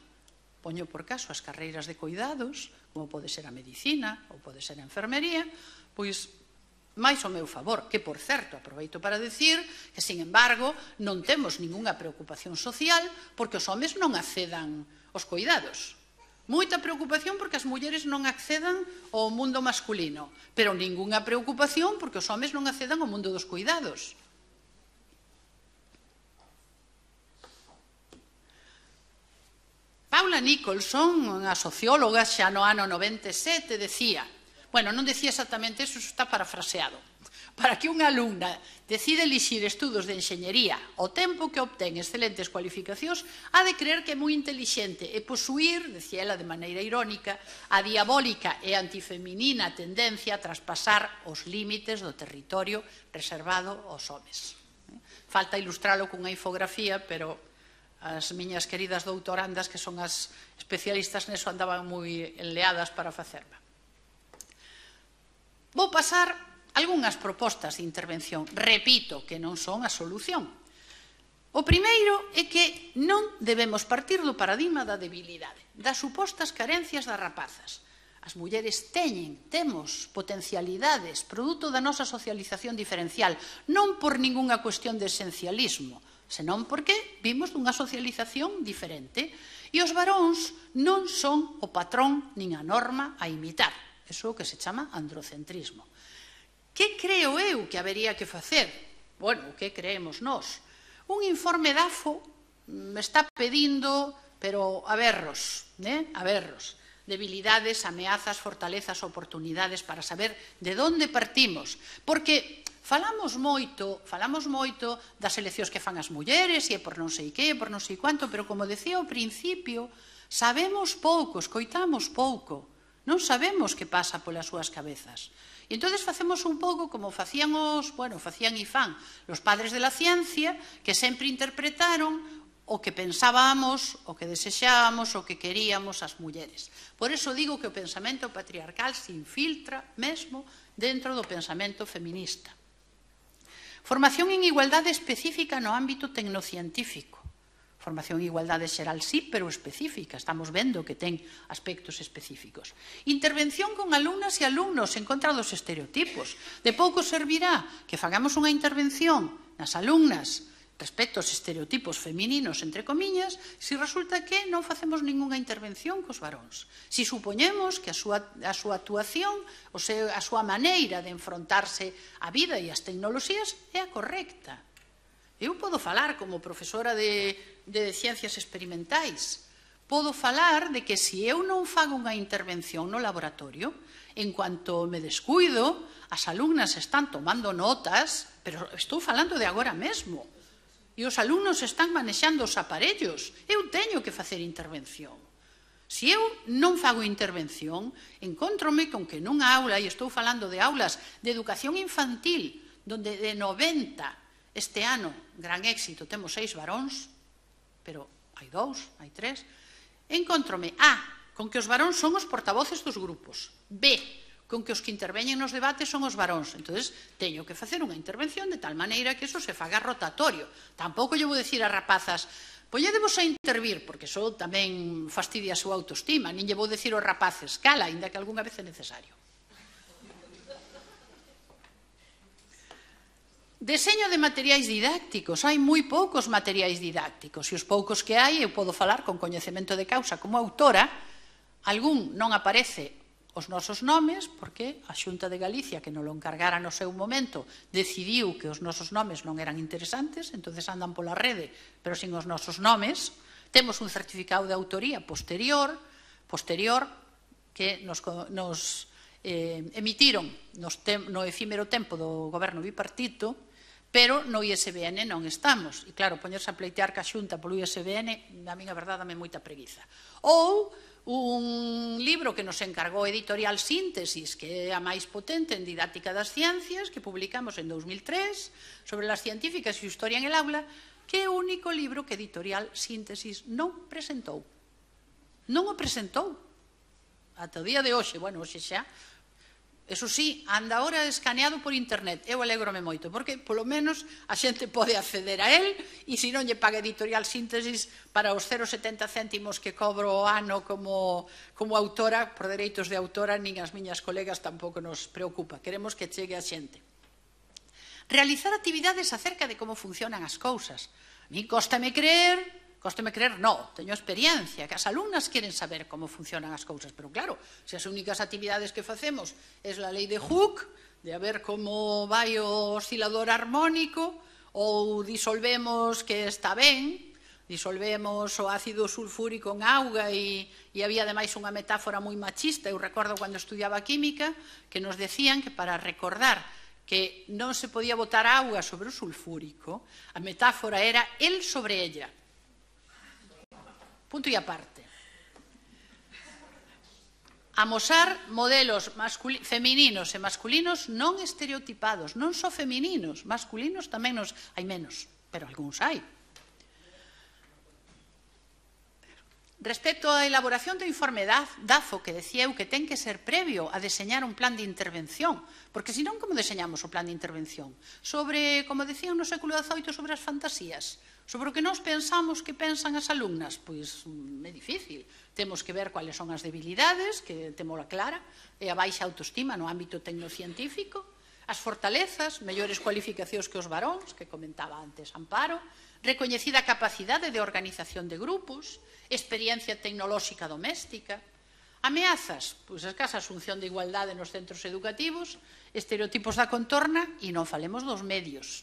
poño por caso as carreiras de cuidados, como pode ser a medicina ou pode ser a enfermería, pois máis ao meu favor, que, por certo, aproveito para decir que, sin embargo, non temos ningunha preocupación social porque os homes non accedan aos cuidados. Moita preocupación porque as mulleres non accedan ao mundo masculino, pero ningunha preocupación porque os homes non accedan ao mundo dos cuidados. Paula Nicholson, unha socióloga xa no ano 97, decía, bueno, non decía exactamente eso, está parafraseado, para que unha alumna decide elixir estudos de enxeñería ao tempo que obtén excelentes cualificacións, ha de creer que é moi intelixente e posuir, decía ela de maneira irónica, a diabólica e antifeminina tendencia a traspasar os límites do territorio reservado aos homes. Falta ilustralo cunha infografía, pero as miñas queridas doutorandas, que son as especialistas neso, andaban moi enleadas para facerla. Vou pasar algunhas propostas de intervención. Repito que non son a solución. O primeiro é que non debemos partir do paradigma da debilidade, das supostas carencias das rapazas. As mulleres temos potencialidades, produto da nosa socialización diferencial, non por ningunha cuestión de esencialismo, senón porque vimos dunha socialización diferente. E os varóns non son o patrón nin a norma a imitar. Eso é o que se chama androcentrismo. Que creo eu que habería que facer? Bueno, o que creemos nós? Un informe DAFO me está pedindo, pero a berros, debilidades, ameazas, fortalezas, oportunidades, para saber de onde partimos. Porque falamos moito das eleccións que fan as mulleres, e por non sei que, por non sei cuánto, pero, como decía ao principio, sabemos pouco, escoitamos pouco, non sabemos que pasa polas súas cabezas. E entón facemos un pouco como facían e fan os padres de la ciencia, que sempre interpretaron o que pensábamos, o que desexábamos, o que queríamos as mulleres. Por iso digo que o pensamento patriarcal se infiltra mesmo dentro do pensamento feminista. Formación en igualdade específica no ámbito tecnocientífico. Formación en igualdade xeral sí, pero específica. Estamos vendo que ten aspectos específicos. Intervención con alumnas e alumnos en contra dos estereotipos. De pouco servirá que fagamos unha intervención nas alumnas respecto aos estereotipos femininos, entre comiñas, se resulta que non facemos ningunha intervención cos varóns. Se supoñemos que a súa actuación, a súa maneira de enfrontarse á vida e ás tecnoloxías é a correcta. Eu podo falar como profesora de ciencias experimentais. podo falar de que se eu non fago unha intervención no laboratorio, en cuanto me descuido, as alumnas están tomando notas, pero estou falando de agora mesmo, e os alumnos están manexando os aparellos, eu teño que facer intervención. Se eu non fago intervención, encontrome con que nunha aula, e estou falando de aulas de educación infantil, donde de 90 este ano, gran éxito, temos 6 varóns, pero hai 2, hai 3, encontrome, con que os varóns son os portavoces dos grupos, B, con que os que interveñen nos debates son os varóns. Entón, teño que facer unha intervención de tal maneira que eso se faga rotatorio. Tampouco lle vou dicir a rapazas, polledevos a intervir, porque iso tamén fastidia a súa autoestima, nin lle vou dicir aos rapaces, cala, ainda que algunha vez é necesario. Deseño de materiais didácticos. Hai moi poucos materiais didácticos, e os poucos que hai, eu podo falar con coñecemento de causa como autora, algún non aparece os nosos nomes, porque a Xunta de Galicia, que nos lo encargara no seu momento, decidiu que os nosos nomes non eran interesantes, entonces andan pola rede, pero sin os nosos nomes. Temos un certificado de autoría posterior que nos emitiron no efímero tempo do goberno bipartito, pero no ISBN non estamos. E claro, poñerse a pleitear ca Xunta polo ISBN, a min a verdade dame moita preguiza. Ou un libro que nos encargou Editorial Síntesis, que é a máis potente en didáctica das ciencias, que publicamos en 2003, sobre las científicas e historia en el aula, que é o único libro que Editorial Síntesis non presentou. Non o presentou. Ata o día de hoxe, bueno, hoxe xa, eso sí, anda ahora escaneado por internet. Eu alégrome moito, porque polo menos a xente pode acceder a él, e se non lle paga Editorial Síntesis para os 0,70 céntimos que cobro o ano como autora, por dereitos de autora, nin as miñas colegas tampouco nos preocupa. Queremos que chegue a xente. Realizar actividades acerca de como funcionan as cousas. A mí cóstame creer, no, teño experiencia, que as alumnas queren saber como funcionan as cousas, pero claro, se as únicas actividades que facemos é a lei de Hooke, de a ver como vai o oscilador armónico, ou disolvemos que está ben, disolvemos o ácido sulfúrico en auga, e había ademais unha metáfora moi machista. Eu recordo cando estudiaba química que nos decían que para recordar que non se podía botar auga sobre o sulfúrico, a metáfora era el sobre ella. Punto e aparte. Amosar modelos femininos e masculinos non estereotipados, non só femininos, masculinos tamén hai menos, pero algúns hai. Respecto á elaboración do informe DAFO, que decía eu que ten que ser previo a deseñar un plan de intervención, porque senón como deseñamos o plan de intervención? Sobre, como decían no século XVIII, sobre as fantasías, sobre o que nós pensamos que pensan as alumnas, pois é difícil. Temos que ver cuáles son as debilidades, que temola clara, e a baixa autoestima no ámbito tecnocientífico, as fortalezas, mellores cualificacións que os varóns, que comentaba antes Amparo, recoñecida capacidade de organización de grupos, experiencia tecnolóxica doméstica, ameazas, pois a escasa asunción de igualdade nos centros educativos, estereotipos da contorna, e non falemos dos medios.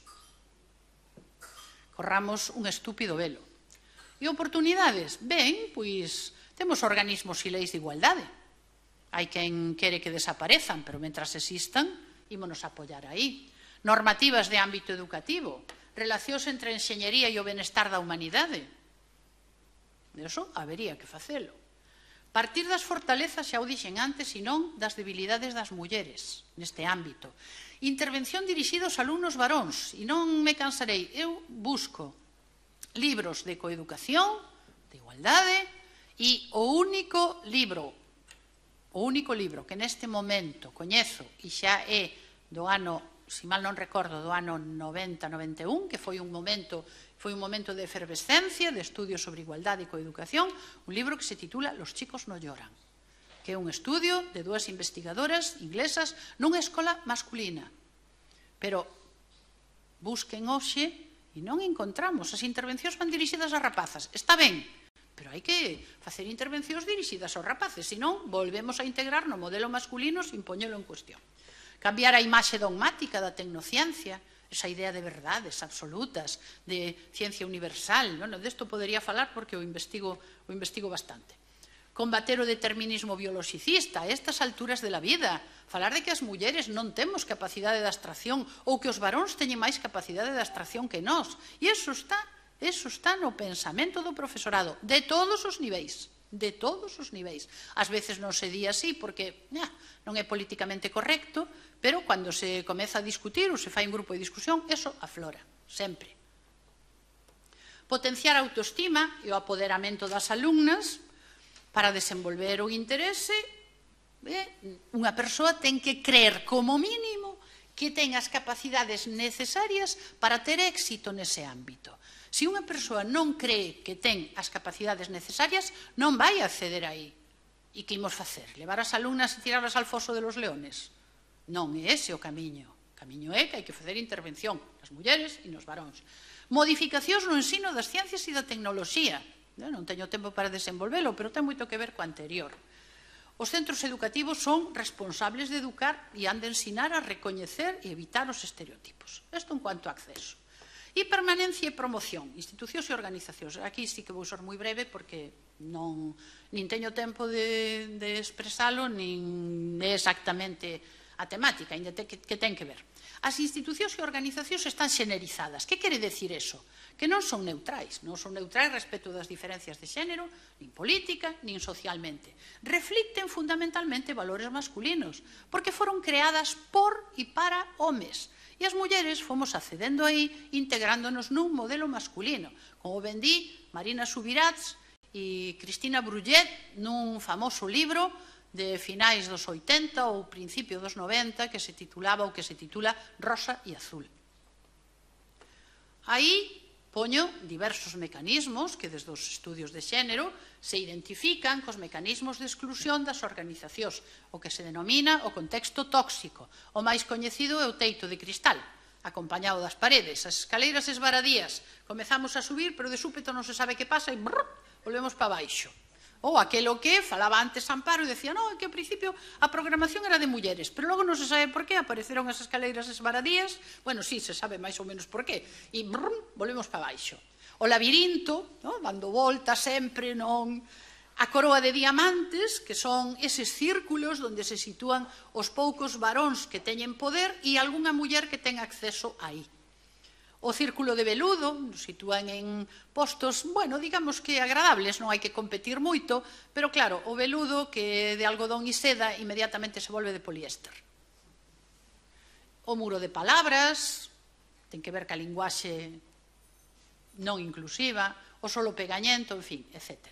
Corramos un estúpido velo. E oportunidades? Ben, pois temos organismos e leis de igualdade. Hai quen quere que desaparezan, pero mentras existan, ímonos a apoiar aí. Normativas de ámbito educativo, relacións entre a enxeñería e o benestar da humanidade. Eso habería que facelo. Partir das fortalezas, xa o dixen antes, e non das debilidades das mulleres neste ámbito. Intervención dirixida aos alumnos varóns, e non me cansarei, eu busco libros de coeducación, de igualdade, e o único libro que neste momento coñezo, e xa é do ano, se mal non recordo, do ano 90-91, que foi un momento de efervescencia, de estudios sobre igualdade e coeducación, un libro que se titula Los chicos no lloran, que é un estudio de dúas investigadoras inglesas nunha escola masculina. Pero busquen hoxe e non encontramos. As intervencións van dirixidas a rapazas. Está ben, pero hai que facer intervencións dirixidas aos rapaces, senón volvemos a integrar no modelo masculino sin poñelo en cuestión. Cambiar a imaxe dogmática da tecnociencia. esa idea de verdades absolutas, de ciencia universal. Bueno, desto podería falar porque o investigo bastante. Combater o determinismo biologicista a estas alturas de la vida, falar de que as mulleres non temos capacidade de abstracción ou que os varóns teñen máis capacidade de abstracción que nós. E iso está no pensamento do profesorado, de todos os niveis. De todos os niveis. Ás veces non se di así porque non é políticamente correcto, pero cando se comeza a discutir ou se fai un grupo de discusión, eso aflora, sempre. Potenciar a autoestima e o apoderamento das alumnas para desenvolver o interese. Unha persoa ten que creer como mínimo que ten as capacidades necesarias para ter éxito nese ámbito. Se unha persoa non cree que ten as capacidades necesarias, non vai acceder aí. E que imos facer? Levar as alumnas e tirarlas al foso de los leones? Non é ese o camiño. O camiño é que hai que facer intervención nas mulleres e nos varóns. Modificacións no ensino das ciencias e da tecnoloxía. Non teño tempo para desenvolvelo, pero ten moito que ver co anterior. Os centros educativos son responsables de educar e han de ensinar a recoñecer e evitar os estereotipos. Isto en cuanto a acceso. E permanencia e promoción, institucións e organizacións. Aquí sí que vou ser moi breve porque nin teño tempo de expresalo, nin é exactamente a temática, ainda que ten que ver. As institucións e organizacións están xenerizadas. Que quere decir eso? Que non son neutrais. Non son neutrais respecto das diferencias de xénero, nin política, nin socialmente. Reflicten fundamentalmente valores masculinos, porque foron creadas por e para homes. E as mulleres fomos accedendo aí, integrándonos nun modelo masculino. Como ben di Marina Subirats e Cristina Brullet nun famoso libro de finais dos 80 ou principio dos 90 que se titulaba ou que se titula Rosa e Azul. Aí poño diversos mecanismos que desde os estudios de xénero se identifican cos mecanismos de exclusión das organizacións, o que se denomina o contexto tóxico. O máis coñecido é o teito de cristal, acompañado das paredes, as escaleiras esvaradías. Comezamos a subir, pero de súpeto non se sabe que pasa e volvemos para baixo. Ou aquelo que falaba antes Amparo e decía, non, que ao principio a programación era de mulleres, pero logo non se sabe por qué apareceron as escaleiras esvaradías. Bueno, sí, se sabe máis ou menos por qué. E volvemos para baixo. O labirinto, dando volta sempre, a coroa de diamantes, que son eses círculos onde se sitúan os poucos varóns que teñen poder e algunha muller que ten acceso aí. O círculo de veludo, nos sitúan en postos, bueno, digamos que agradables, non hai que competir moito, pero claro, o veludo que de algodón e seda inmediatamente se volve de poliéster. O muro de palabras, ten que ver ca linguaxe non inclusiva, o solo pegañento, en fin, etc.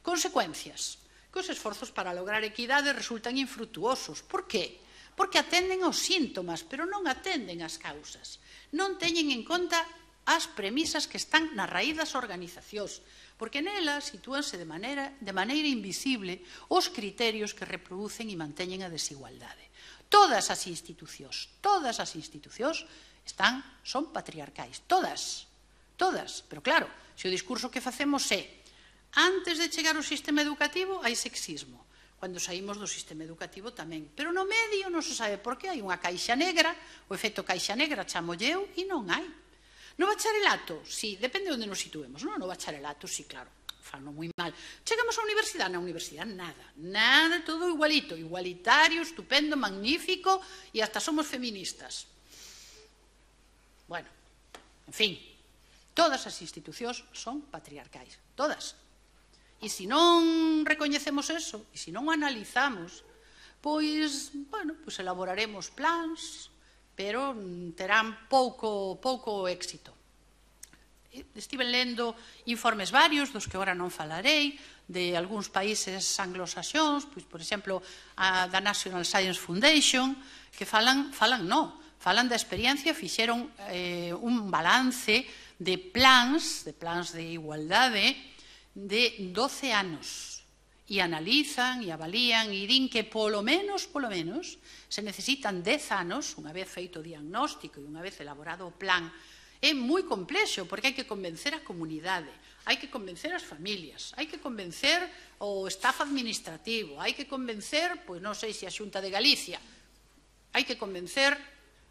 Consecuencias. Que os esforzos para lograr equidade resultan infrutuosos. Por qué? Porque atenden aos síntomas, pero non atenden ás causas. Non teñen en conta as premisas que están na raíz das organizacións, porque nelas sitúanse de maneira invisible os criterios que reproducen e manteñen a desigualdade. Todas as institucións son patriarcais, todas, pero claro, se o discurso que facemos é antes de chegar ao sistema educativo hai sexismo, cando saímos do sistema educativo tamén. Pero no medio non se sabe por que hai unha caixa negra, o efecto caixa negra chamolle eu, e non hai. No bacharelato, sí, depende de onde nos situemos. No bacharelato, sí, claro, falo moi mal. Chegamos á universidade, na universidade nada, todo igualito, igualitario, estupendo, magnífico, e hasta somos feministas. Bueno, en fin, todas as institucións son patriarcais, todas. E se non recoñecemos eso, e se non o analizamos, pois, bueno, pois elaboraremos plans, pero terán pouco éxito. Estive lendo informes varios, dos que agora non falarei, de algúns países anglosaxóns, pois, por exemplo, da National Science Foundation, que falan da experiencia, fixeron un balance de plans de igualdade de 12 anos e analizan e avalían e din que polo menos se necesitan 10 anos, unha vez feito o diagnóstico e unha vez elaborado o plan. É moi complexo porque hai que convencer a comunidade, hai que convencer as familias, hai que convencer o staff administrativo, hai que convencer, pois non sei se a Xunta de Galicia, hai que convencer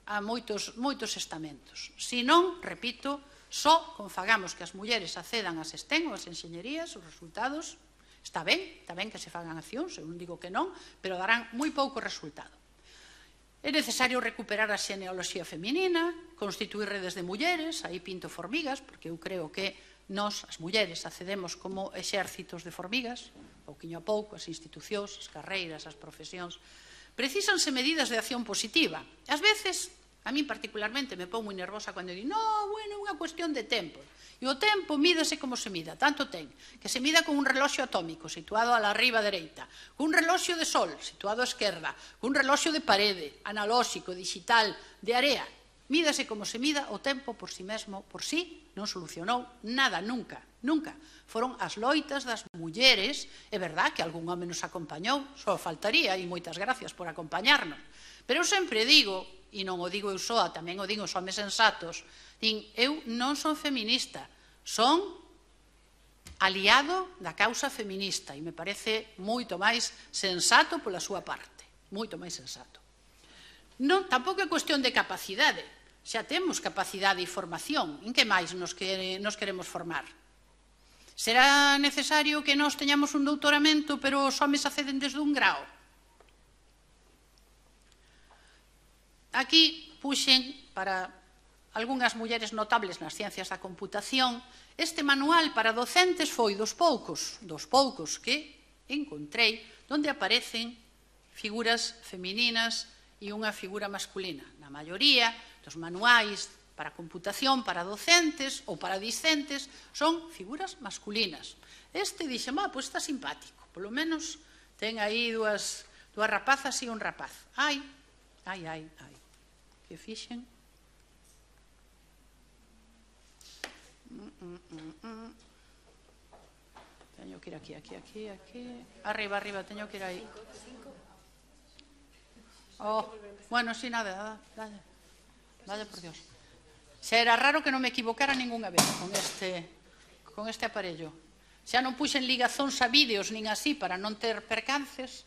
a moitos estamentos. Se non, repito, só confagamos que as mulleres accedan ás STEM ou ás enxeñerías, os resultados, está ben que se fagan accións, eu non digo que non, pero darán moi pouco resultado. É necesario recuperar a xenealoxía feminina, constituir redes de mulleres, aí pinto formigas, porque eu creo que nós, as mulleres, accedemos como exércitos de formigas, pouquiño a pouco, as institucións, as carreiras, as profesións. Precísanse medidas de acción positiva. Ás veces, a min particularmente, me pon moi nervosa cando digo, no, bueno, é unha cuestión de tempo. E o tempo mídase como se mida, tanto ten, que se mida con un reloxo atómico situado a la riba dereita, con un reloxo de sol situado a esquerda, con un reloxo de parede, analóxico, digital, de area. Mídase como se mida, o tempo por si mesmo, por si, non solucionou nada, nunca, nunca. Foron as loitas das mulleres, é verdad que algún home nos acompañou, só faltaría, e moitas gracias por acompañarnos. Pero eu sempre digo, e non o digo eu soa, tamén o digo os homes sensatos, din, eu non son feminista, son aliado da causa feminista, e me parece moito máis sensato pola súa parte, moito máis sensato. Non, tampouco é cuestión de capacidade, xa temos capacidade e formación, en que máis nos queremos formar? Será necesario que nós teñamos un doutoramento, pero os homes acceden desde un grao? Aquí puxen para algunhas mulleres notables nas ciencias da computación. Este manual para docentes foi dos poucos que encontrei onde aparecen figuras femininas e unha figura masculina. Na maioría dos manuais para computación, para docentes ou para discentes, son figuras masculinas. Este dixe, pois está simpático, polo menos ten aí dúas rapazas e un rapaz. Ai, que fixen? Teño que ir aquí. Arriba, teño que ir aí. Bueno, si nada, vaya por Dios. Xa era raro que non me equivocara ningunha vez con este aparello. Xa non puxen ligazóns a vídeos nin así para non ter percances.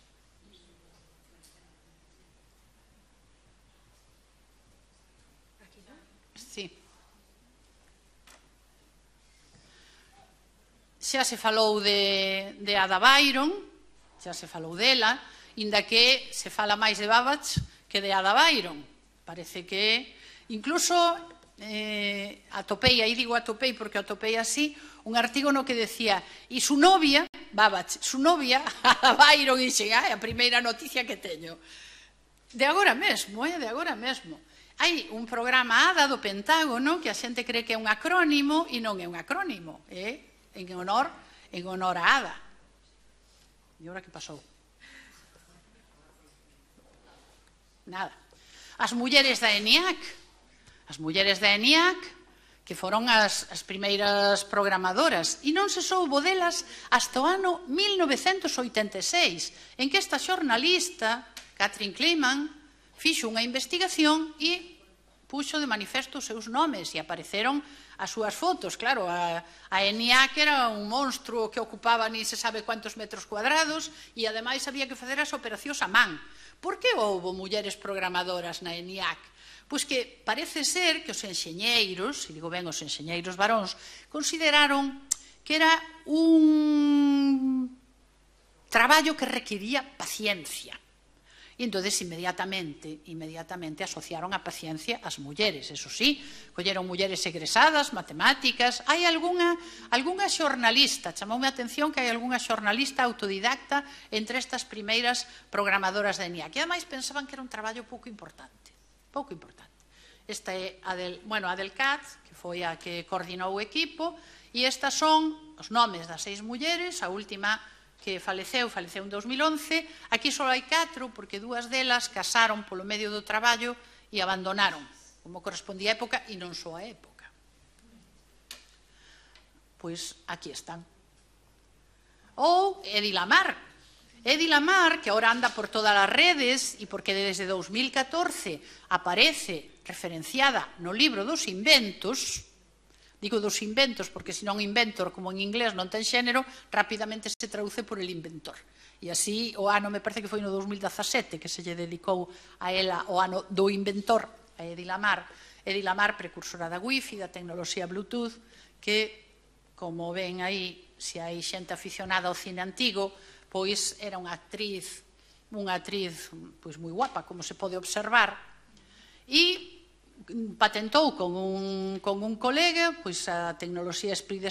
Sí. Xa se falou de Ada Byron, xa se falou dela, inda que se fala máis de Babbage que de Ada Byron. Parece que incluso atopei, aí digo atopei porque atopei así, un artigo no que decía, e su novia, Babbage, su novia, Ada Byron, e chega, a primeira noticia que teño. De agora mesmo, de agora mesmo. Hai un programa ADA do Pentágono que a xente cree que é un acrónimo e non é un acrónimo, é en honor a ADA. E agora que pasou? Nada. As mulleres da ENIAC, que foron as primeiras programadoras, e non se soubo delas hasta o ano 1986, en que esta xornalista, Catherine Kleiman, fixo unha investigación e puxo de manifesto os seus nomes e apareceron as súas fotos. Claro, a ENIAC era un monstruo que ocupaba ni se sabe cuántos metros cuadrados e ademais había que facer as operacións a man. Por que houbo mulleres programadoras na ENIAC? Pois que parece ser que os enxeñeiros, e digo ben os enxeñeiros varóns, consideraron que era un traballo que requiría paciencia. E entón, inmediatamente asociaron a paciencia ás mulleres. Eso sí, colleron mulleres egresadas, matemáticas. Hai algunha xornalista, chamoume a atención que hai algunha xornalista autodidacta entre estas primeiras programadoras da ENIAC. E ademais pensaban que era un traballo pouco importante. Esta é a del Katz, que foi a que coordinou o equipo, e estas son os nomes das 6 mulleres, a última que faleceu en 2011, aquí só hai 4, porque 2 delas casaron polo medio do traballo e abandonaron, como correspondía a época, e non só a época. Pois aquí están. Ou Hedy Lamarr, que agora anda por todas as redes, e porque desde 2014 aparece referenciada no libro dos inventos. Digo dos inventos porque senón inventor, como en inglés non ten xénero, rapidamente se traduce por el inventor. E así o ano, me parece que foi no 2017 que se lle dedicou a ela o ano do inventor, a a Edilamar, precursora da Wi-Fi, da tecnoloxía Bluetooth, que, como ven aí, se hai xente aficionada ao cine antigo, pois era unha actriz moi guapa, como se pode observar, e patentou con un colega a tecnoloxía Split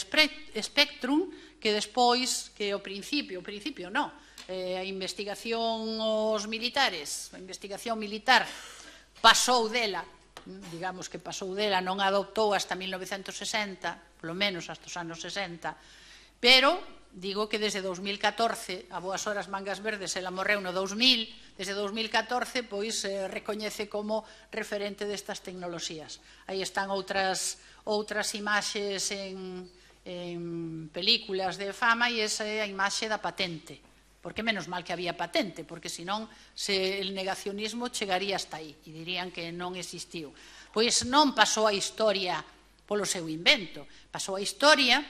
Spectrum, que despois, que ao principio non, a investigación militar pasou dela, digamos que pasou dela, non a adoptou hasta 1960, polo menos hasta os anos 60, pero digo que desde 2014, a boas horas mangas verdes, ela morreu no 2000, desde 2014, pois recoñece como referente destas tecnoloxías. Aí están outras imaxes en películas de fama e esa é a imaxe da patente. Porque menos mal que había patente, porque senón el negacionismo chegaría hasta aí e dirían que non existiu. Pois non pasou a historia polo seu invento, pasou a historia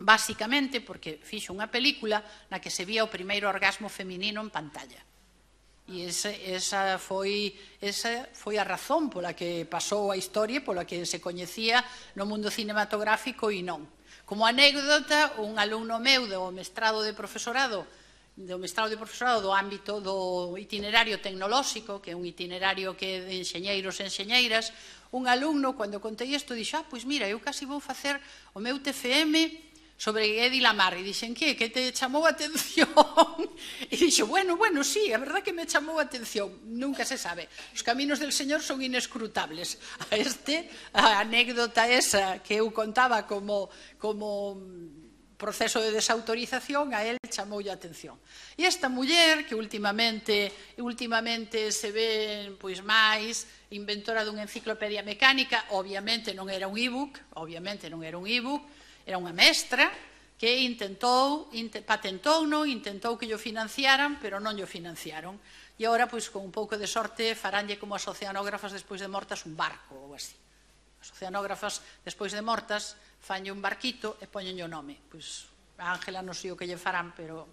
basicamente porque fixo unha película na que se vía o primeiro orgasmo feminino en pantalla. E esa foi a razón pola que pasou a historia, pola que se coñecía no mundo cinematográfico e non. Como anécdota, un alumno meu do mestrado de profesorado do ámbito do itinerario tecnolóxico, que é un itinerario que de enxeñeiros e enxeñeiras, un alumno, cando contei isto, dixo, pois mira, eu casi vou facer o meu TFM sobre Edilamar, e dixen, que te chamou a atención? E dixo, bueno, sí, a verdad que me chamou a atención, nunca se sabe, os caminos del Señor son inescrutables. A anécdota esa que eu contaba como proceso de desautorización, a él chamoulle a atención. E esta muller, que últimamente se ve máis inventora dunha enciclopedia mecánica, obviamente non era un e-book, era unha mestra que patentouno, intentou que llo financiaran, pero non llo financiaron. E agora, con un pouco de sorte, faránlle como as oceanógrafas despois de mortas un barco ou así. As oceanógrafas despois de mortas fanlle un barquito e poñenlle o nome. A Ángela non sei o que lle farán, pero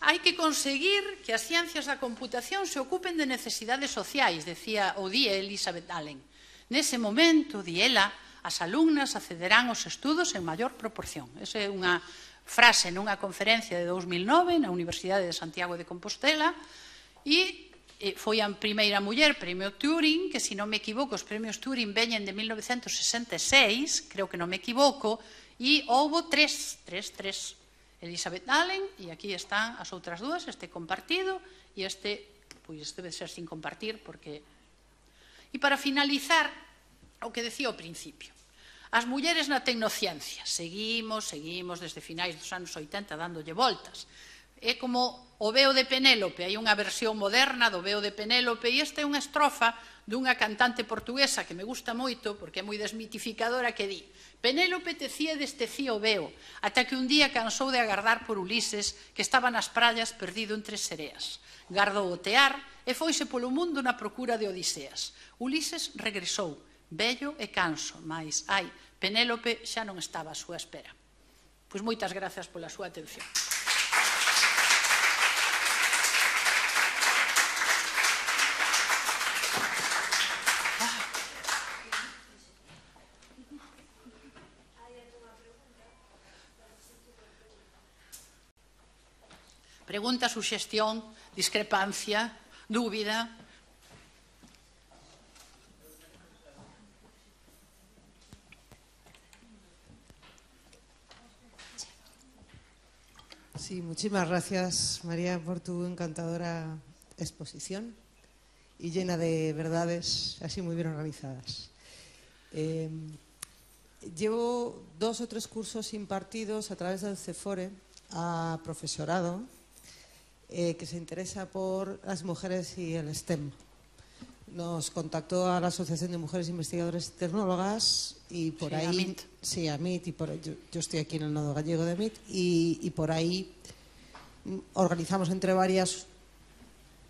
hai que conseguir que as ciencias da computación se ocupen de necesidades sociais, di Elizabeth Allen. Nese momento, di ela, as alumnas accederán aos estudos en maior proporción. Esa é unha frase nunha conferencia de 2009 na Universidade de Santiago de Compostela e foi a primeira muller premio Turing, que se non me equivoco, os premios Turing veñen de 1966, creo que non me equivoco, e houbo tres. Elizabeth Allen, e aquí están as outras dúas, este compartido e este, debe ser sin compartir, porque... E para finalizar, o que decía ao principio, as mulleres na tecnociencia, seguimos desde finais dos anos 80 dándolle voltas. É como o veo de Penélope, hai unha versión moderna do veo de Penélope e esta é unha estrofa dunha cantante portuguesa que me gusta moito porque é moi desmitificadora, que di: Penélope tecía deste cío veo, ata que un día cansou de agardar por Ulises, que estaba nas praias perdido entre sereas. Gardou o tear e foise polo mundo na procura de Odiseas. Ulises regresou, vello e canso, mas, Penélope xa non estaba á súa espera. Pois moitas grazas pola súa atención. Pregunta, suxestión, discrepancia, dúbida. Sí, muchísimas gracias, María, por tu encantadora exposición y llena de verdades así muy bien organizadas. Llevo 2 o 3 cursos impartidos a través del CEFORE a profesorado que se interesa por las mujeres y el STEM. Nos contactó a la Asociación de Mujeres Investigadoras y Tecnólogas y por ahí... MIT. Sí, a MIT. Yo estoy aquí en el nodo gallego de MIT y por ahí organizamos entre varias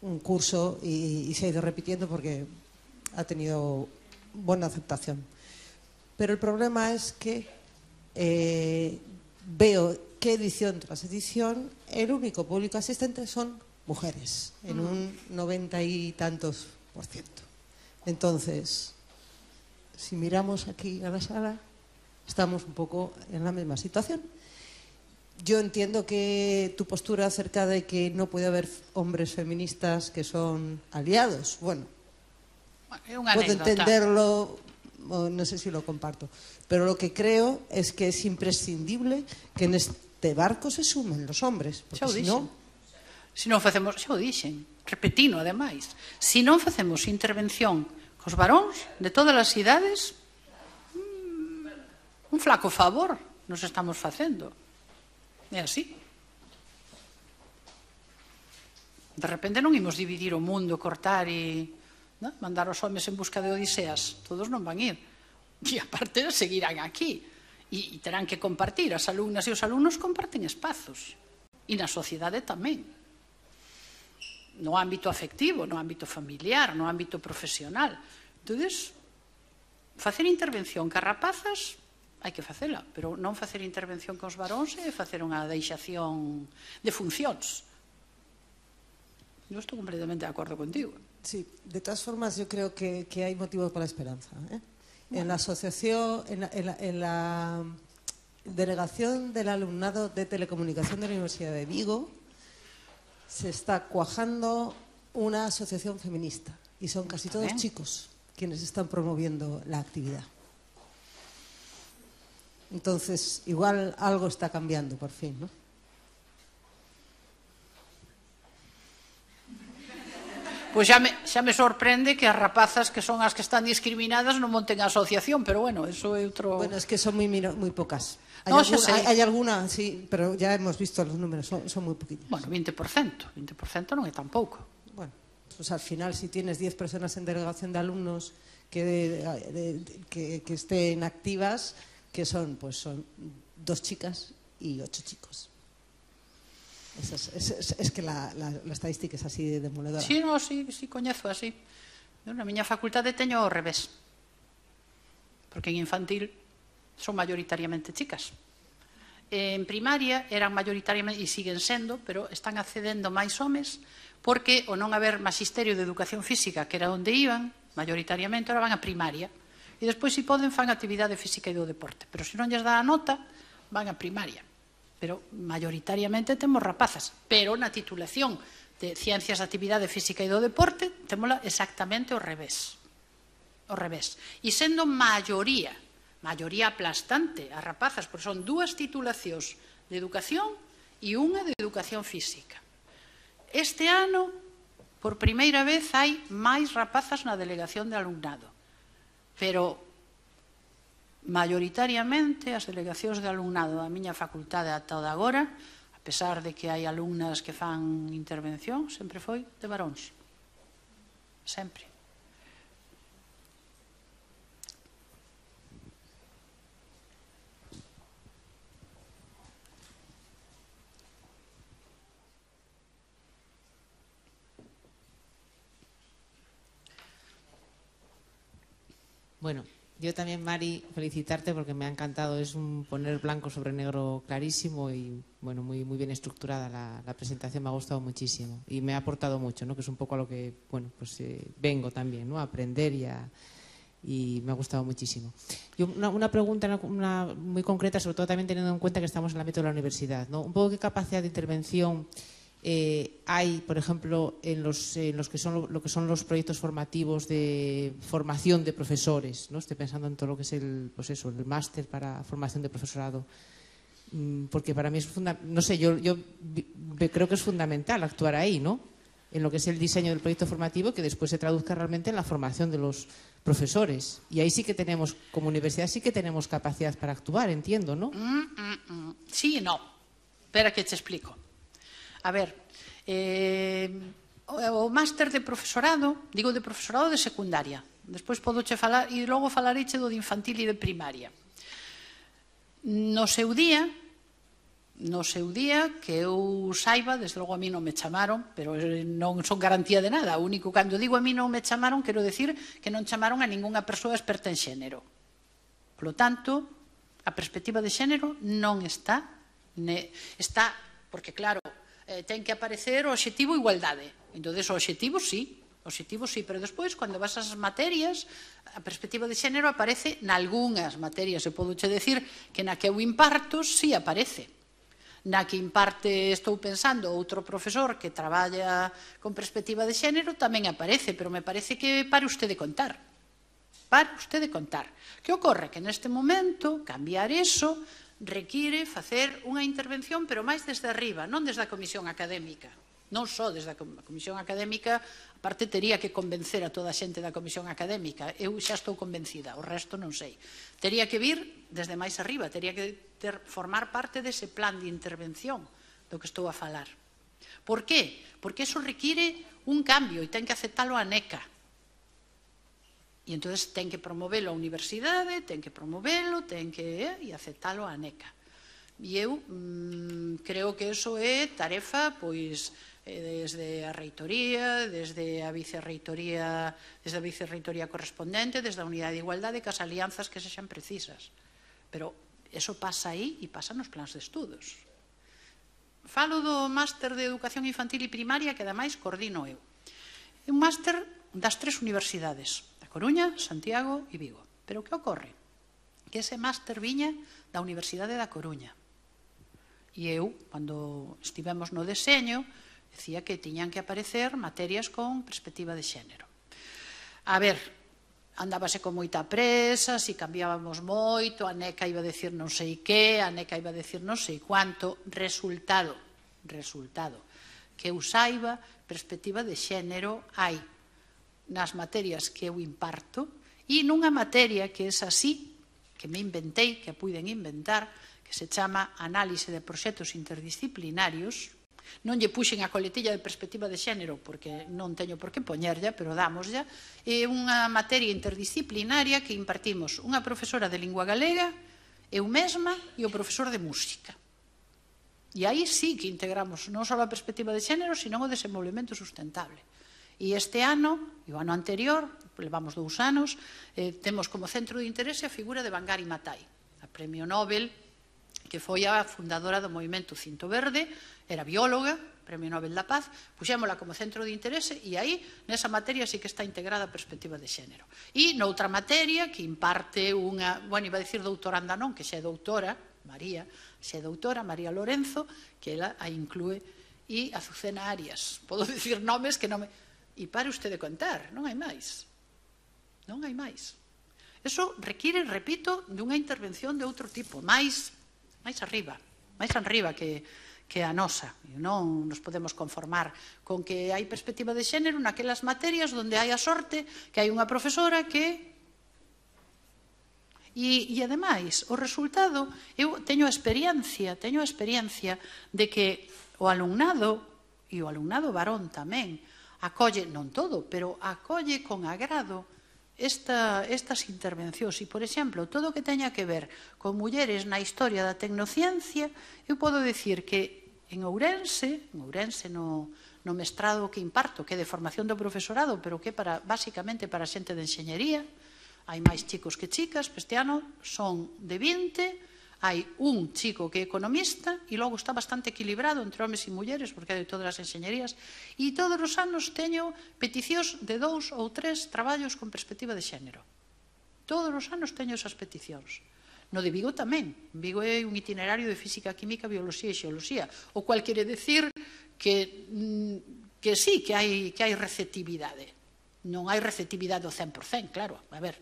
un curso y se ha ido repitiendo porque ha tenido buena aceptación. Pero el problema es que veo que edición tras edición el único público asistente son mujeres, en un 90 y tantos %. Entonces, si miramos aquí a la sala, estamos un poco en la misma situación. Yo entiendo que tu postura acerca de que no puede haber hombres feministas que son aliados, bueno, puedo entenderlo, no sé si lo comparto, pero lo que creo es que es imprescindible que en este barco se sumen los hombres, porque si no... Se non facemos, xa o dixen, repetino, ademais, se non facemos intervención cos varóns de todas as idades, un flaco favor nos estamos facendo. É así. De repente non imos dividir o mundo, cortar e mandar os homes en busca de odiseas. Todos non van ir. E aparte seguirán aquí. E terán que compartir. As alumnas e os alumnos comparten espazos. E na sociedade tamén. No ámbito afectivo, no ámbito familiar, no ámbito profesional. Entonces, facer intervención ca rapazas hai que facela, pero non facer intervención cos varóns é facer unha deixación de funcións. Eu estou completamente de acordo contigo. Sí, de todas formas yo creo que hay motivos para la esperanza. En la asociación, en la delegación del alumnado de telecomunicación de la Universidad de Vigo se está cuajando una asociación feminista y son casi todos chicos quienes están promoviendo la actividad. Entonces, igual algo está cambiando por fin, ¿no? Pois xa me sorprende que as rapazas que son as que están discriminadas non monten a asociación, pero bueno, eso é outro... Bueno, es que son muy pocas. Hay alguna, sí, pero ya hemos visto los números, son muy poquillas. Bueno, 20% non é tan pouco. Bueno, pues al final si tienes 10 personas en delegación de alumnos que estén activas, que son 2 chicas y 8 chicos. Es que la estadística es así de demoledora. Sí, no, sí, coñezo así. Na miña facultade teño ao revés. Porque en infantil son mayoritariamente chicas. En primaria eran mayoritariamente, e siguen sendo, pero están accedendo máis homes, porque o non haber magisterio de educación física, que era onde iban, mayoritariamente, ahora van a primaria. E despois, se poden, fan actividade física e do deporte. Pero se non lles dá a nota, van a primaria. Pero mayoritariamente temos rapazas. Pero na titulación de Ciencias de Actividade Física e do Deporte témola exactamente ao revés. Ao revés. E sendo maioría aplastante as rapazas, porque son 2 titulacións de educación e unha de educación física. Este ano, por primeira vez, hai máis rapazas na delegación de alumnado. Pero mayoritariamente as delegacións de alumnado da miña facultade ata o de agora, a pesar de que hai alumnas que fan intervención, sempre foi de varóns. Sempre. Bueno, yo también, Mari, felicitarte porque me ha encantado. Es un poner blanco sobre negro clarísimo y bueno, muy bien estructurada la presentación. Me ha gustado muchísimo y me ha aportado mucho, ¿no? Que es un poco a lo que bueno, pues vengo también, ¿no? A aprender y me ha gustado muchísimo. Yo una pregunta muy concreta, sobre todo también teniendo en cuenta que estamos en el ámbito de la universidad, ¿no? Un poco qué capacidad de intervención hay, por ejemplo, en los que son lo que son los proyectos formativos de formación de profesores, ¿no? Estoy pensando en todo lo que es el máster para formación de profesorado, porque para mí es fundamental, no sé, yo creo que es fundamental actuar ahí, ¿no? En lo que es el diseño del proyecto formativo, que después se traduzca realmente en la formación de los profesores. Y ahí sí que tenemos, como universidad, sí que tenemos capacidad para actuar, entiendo, ¿no? Sí y no. Espera que te explico. A ver, o máster de profesorado, digo de profesorado de secundaria, despois podoche falar, e logo falareiche do de infantil e de primaria. No seu día, que eu saiba, desde logo a mí non me chamaron, pero non son garantía de nada, o único, cando digo a mí non me chamaron, quero decir que non chamaron a ningunha persoa experta en xénero. Por lo tanto, a perspectiva de xénero non está, porque claro, ten que aparecer o obxectivo igualdade. Entón, o obxectivo sí, o Obxectivos sí, pero despois, cando vas ás materias, a perspectiva de xénero aparece nalgúnas materias. Eu podo che decir que na que eu imparto, sí aparece. Na que imparte, estou pensando, outro profesor que traballa con perspectiva de xénero tamén aparece, pero me parece que pare usted de contar. Pare usted de contar. Que ocorre? Que neste momento, cambiar eso require facer unha intervención, pero máis desde arriba, non desde a comisión académica. Non só desde a comisión académica, aparte tería que convencer a toda a xente da comisión académica. Eu xa estou convencida, o resto non sei. Tería que vir desde máis arriba, tería que formar parte dese plan de intervención do que estou a falar. Por qué? Porque eso require un cambio e ten que aceptalo a NECA. E entón ten que promovelo a universidade, ten que promovelo, ten que aceptalo a NECA. E eu creo que eso é tarefa, pois, desde a reitoría, desde a vicerreitoría correspondente, desde a unidade de igualdade, que as alianzas que sexan precisas. Pero eso pasa aí e pasa nos plans de estudos. Falo do máster de educación infantil e primaria que ademais coordino eu. É un máster das 3 universidades, da Coruña, Santiago e Vigo. Pero que ocorre? Que ese máster viña da Universidade da Coruña. E eu, cando estivemos no deseño, decía que tiñan que aparecer materias con perspectiva de xénero. A ver, andábase con moita presa, si cambiábamos moito, a NECA iba a decir non sei que, a NECA iba a decir non sei cuánto. Resultado, que eu saiba, perspectiva de xénero hai nas materias que eu imparto e nunha materia que é así, que me inventei, que puiden inventar, que se chama Análise de Proxectos Interdisciplinarios. Non lle puxen a coletilla de perspectiva de xénero porque non teño por que poñerlla, pero dámoslla. É unha materia interdisciplinaria que impartimos unha profesora de lingua galega, eu mesma e o profesor de música. E aí sí que integramos non só a perspectiva de xénero, sino o desenvolvemento sustentable. E este ano, e o ano anterior, levamos 2 anos, temos como centro de interese a figura de Wangari Maathai, a premio Nobel, que foi a fundadora do movimento Cinto Verde, era bióloga, Premio Nobel da Paz, puxémola como centro de interese e aí, nesa materia, sí que está integrada a perspectiva de xénero. E noutra materia que imparte unha, bueno, iba a dicir doutoranda non, que xa é doutora, María Lorenzo, que ela a inclúe, e Azucena Arias. Podo dicir nomes que non me... E pare usted de contar, non hai máis. Non hai máis. Eso require, repito, dunha intervención de outro tipo, máis arriba que a nosa. Non nos podemos conformar con que hai perspectiva de xénero naquelas materias onde hai a sorte que hai unha profesora que... E ademais, o resultado, eu teño a experiencia de que o alumnado, e o alumnado varón tamén, acolle, non todo, pero acolle con agrado estas intervencións. E, por exemplo, todo o que teña que ver con mulleres na historia da tecnociencia, eu podo dicir que en Ourense no mestrado que imparto, que é de formación do profesorado, pero que é basicamente para xente de enxeñería, hai máis chicos que chicas, este ano son de 20, hai un chico que é economista e logo está bastante equilibrado entre homes e mulleres, porque hai de todas as enxeñerías, e todos os anos teño peticións de 2 ou 3 traballos con perspectiva de xénero. Todos os anos teño esas peticións. No de Vigo tamén. Vigo é un itinerario de física, química, bioloxía e xeoloxía, o cual quere decir que sí, que hai receptividade. Non hai receptividade ao 100%, claro. A ver,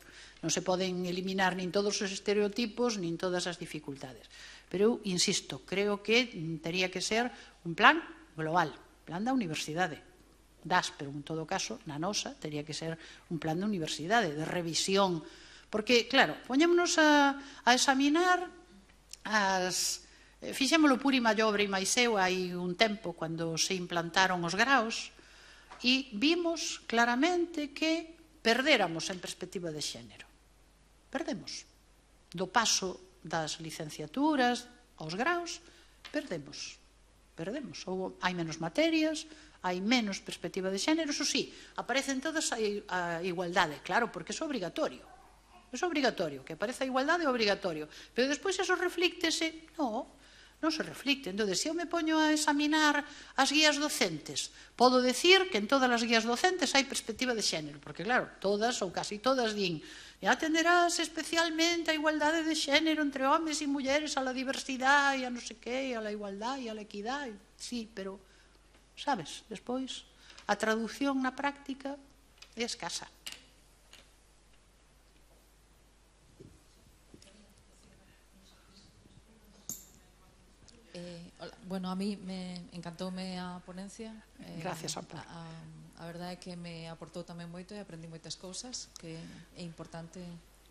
non se poden eliminar nin todos os estereotipos, nin todas as dificultades. Pero eu insisto, creo que tería que ser un plan global, plan da universidade. Pero en todo caso, na nosa, tería que ser un plan de universidade, de revisión. Porque, claro, poñémonos a examinar fixémolo Puri Mallobre e máis eu hai un tempo, cando se implantaron os graos, e vimos claramente que perdéramos en perspectiva de xénero. Perdemos. Do paso das licenciaturas aos graos, perdemos. Hai menos materias, hai menos perspectiva de xénero, eso sí, aparecen todas a igualdade, claro, porque é obrigatorio. É obrigatorio, que aparece a igualdade é obrigatorio. Pero despois eso reflíctese, non, non se reflicte. Entón, se eu me poño a examinar as guías docentes, podo decir que en todas as guías docentes hai perspectiva de xénero, porque claro, todas ou casi todas din e atenderás especialmente a igualdade de xénero entre homes e mulleres, a la diversidade, e a non sei que, a la igualdade, e a la equidade. Sí, pero, sabes, despois, a traducción na práctica é escasa. Bueno, a mí me encantoume a ponencia. Gracias, Amparo. A verdade é que me aportou tamén moito e aprendí moitas cousas, que é importante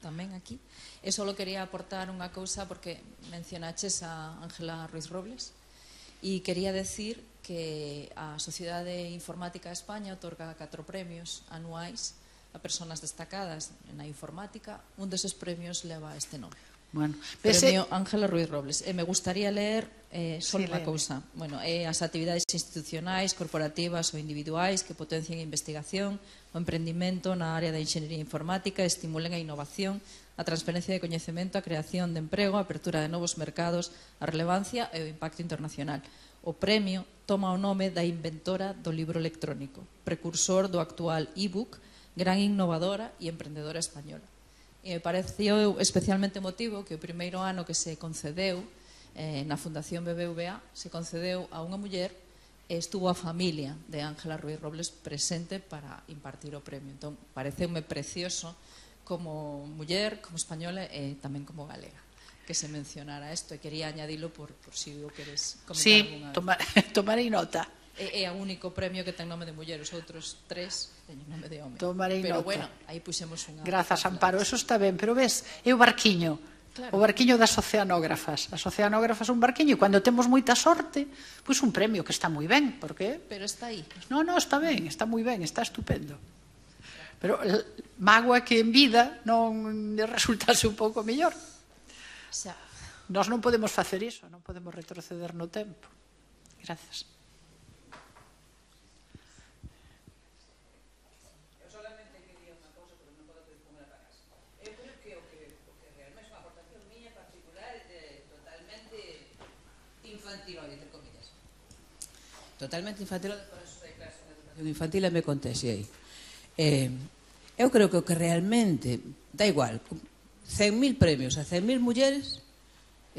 tamén aquí. E só quería aportar unha cousa porque mencionaches a Ángela Ruiz Robles e quería decir que a Sociedade Informática de España otorga 4 premios anuais a persoas destacadas na informática. Un deses premios leva este nome. Bueno, Premio Ángela Ruiz Robles. Me gustaría leer só unha cousa. Bueno, as actividades institucionais, corporativas ou individuais que potencien a investigación, o emprendimento na área da enxeñería informática, estimulen a innovación, a transferencia de coñecemento, a creación de emprego, a apertura de novos mercados, a relevancia e o impacto internacional. O premio toma o nome da inventora do libro electrónico, precursor do actual e-book, gran innovadora e emprendedora española. E me pareceu especialmente emotivo que o primeiro ano que se concedeu na Fundación BBVA se concedeu a unha muller e estuvo a familia de Ángela Ruiz Robles presente para impartir o premio. Entón, pareceume precioso como muller, como española e tamén como galega que se mencionara isto, e quería añadilo por si o queres comentar alguna vez. Sí, tomarei nota. É o único premio que ten nome de muller, os outros 3 teñen nome de home. Tomarei nota. Pero bueno, aí puxemos unha... Grazas, Amparo, eso está ben, pero ves, é o barquiño. Claro. O barquiño das oceanógrafas. As oceanógrafas un barquiño e cando temos moita sorte, pois un premio que está moi ben, porque... Pero está aí. Non, está ben, está moi ben, está estupendo. Pero mágoa que en vida non resultase un pouco mellor. Xa. Nós non podemos facer iso, non podemos retroceder no tempo. Grazas. Totalmente infantil, por eso de clase de educación infantil e me contexei. Eu creo que o que realmente dá igual, 100.000 premios a 100.000 mulleres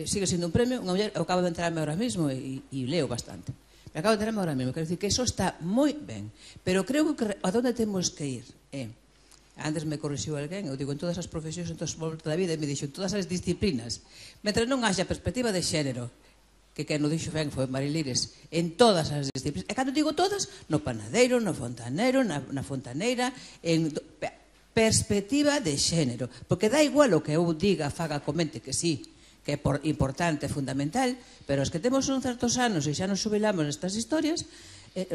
sigue sendo un premio. Unha muller, eu acabo de enterarme ahora mismo e leo bastante, me acabo de enterarme ahora mismo, quero dicir que eso está moi ben, pero creo que a donde temos que ir antes me corrixiu alguén, eu digo en todas as profesións, en toda a vida, e me dixo en todas as disciplinas, mentre non haxa perspectiva de xénero, que quen o dixo ben foi Marilires, en todas as disciplinas. E cando digo todas, no panadeiro, no fontanero, na fontaneira, en perspectiva de xénero. Porque dá igual o que eu diga, faga, comente, que sí, que é importante, fundamental, pero os que temos uns certos anos e xa nos xubilamos nestas historias,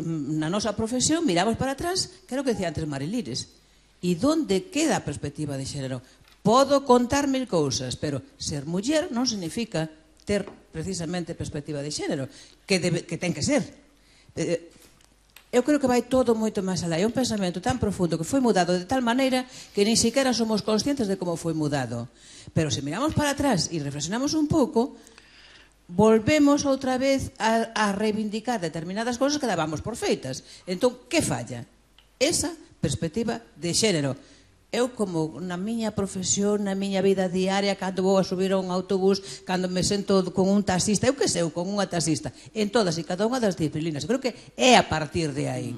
na nosa profesión miramos para atrás, que era o que decía antes Marilires. E onde queda a perspectiva de xénero? Podo contar 1000 cousas, pero ser muller non significa ter precisamente perspectiva de xénero, que ten que ser. Eu creo que vai todo moito máis alá. É un pensamento tan profundo que foi mudado de tal maneira que nin siquiera somos conscientes de como foi mudado. Pero se miramos para atrás e reflexionamos un pouco, volvemos outra vez a reivindicar determinadas cousas que dábamos por feitas. Entón, que falla? Esa perspectiva de xénero. Eu, como na miña profesión, na miña vida diaria, cando vou a subir a un autobús, cando me sento con un taxista, eu que sei, con unha taxista, en todas e cada unha das disciplinas. Creo que é a partir de aí.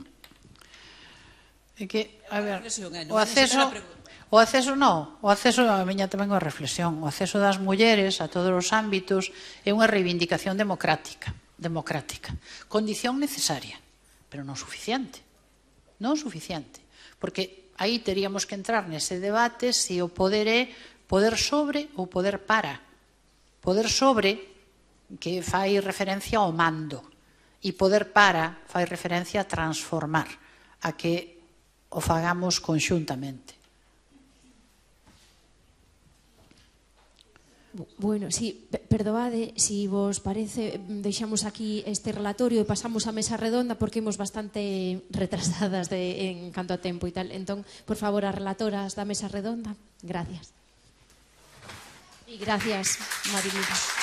É que, a ver, o acceso non, o acceso a miña tamén é unha reflexión. O acceso das mulleres a todos os ámbitos é unha reivindicación democrática. Condición necesaria, pero non suficiente. Non suficiente. Porque aí teríamos que entrar nese debate se o poder é poder sobre ou poder para. Poder sobre, que fai referencia ao mando, e poder para fai referencia a transformar, a que o fagamos conxuntamente. Bueno, sí, perdoade, si vos parece, deixamos aquí este relatorio e pasamos á mesa redonda porque imos bastante retrasadas en canto a tempo e tal. Entón, por favor, as relatoras da mesa redonda. Gracias. E gracias, Marilires.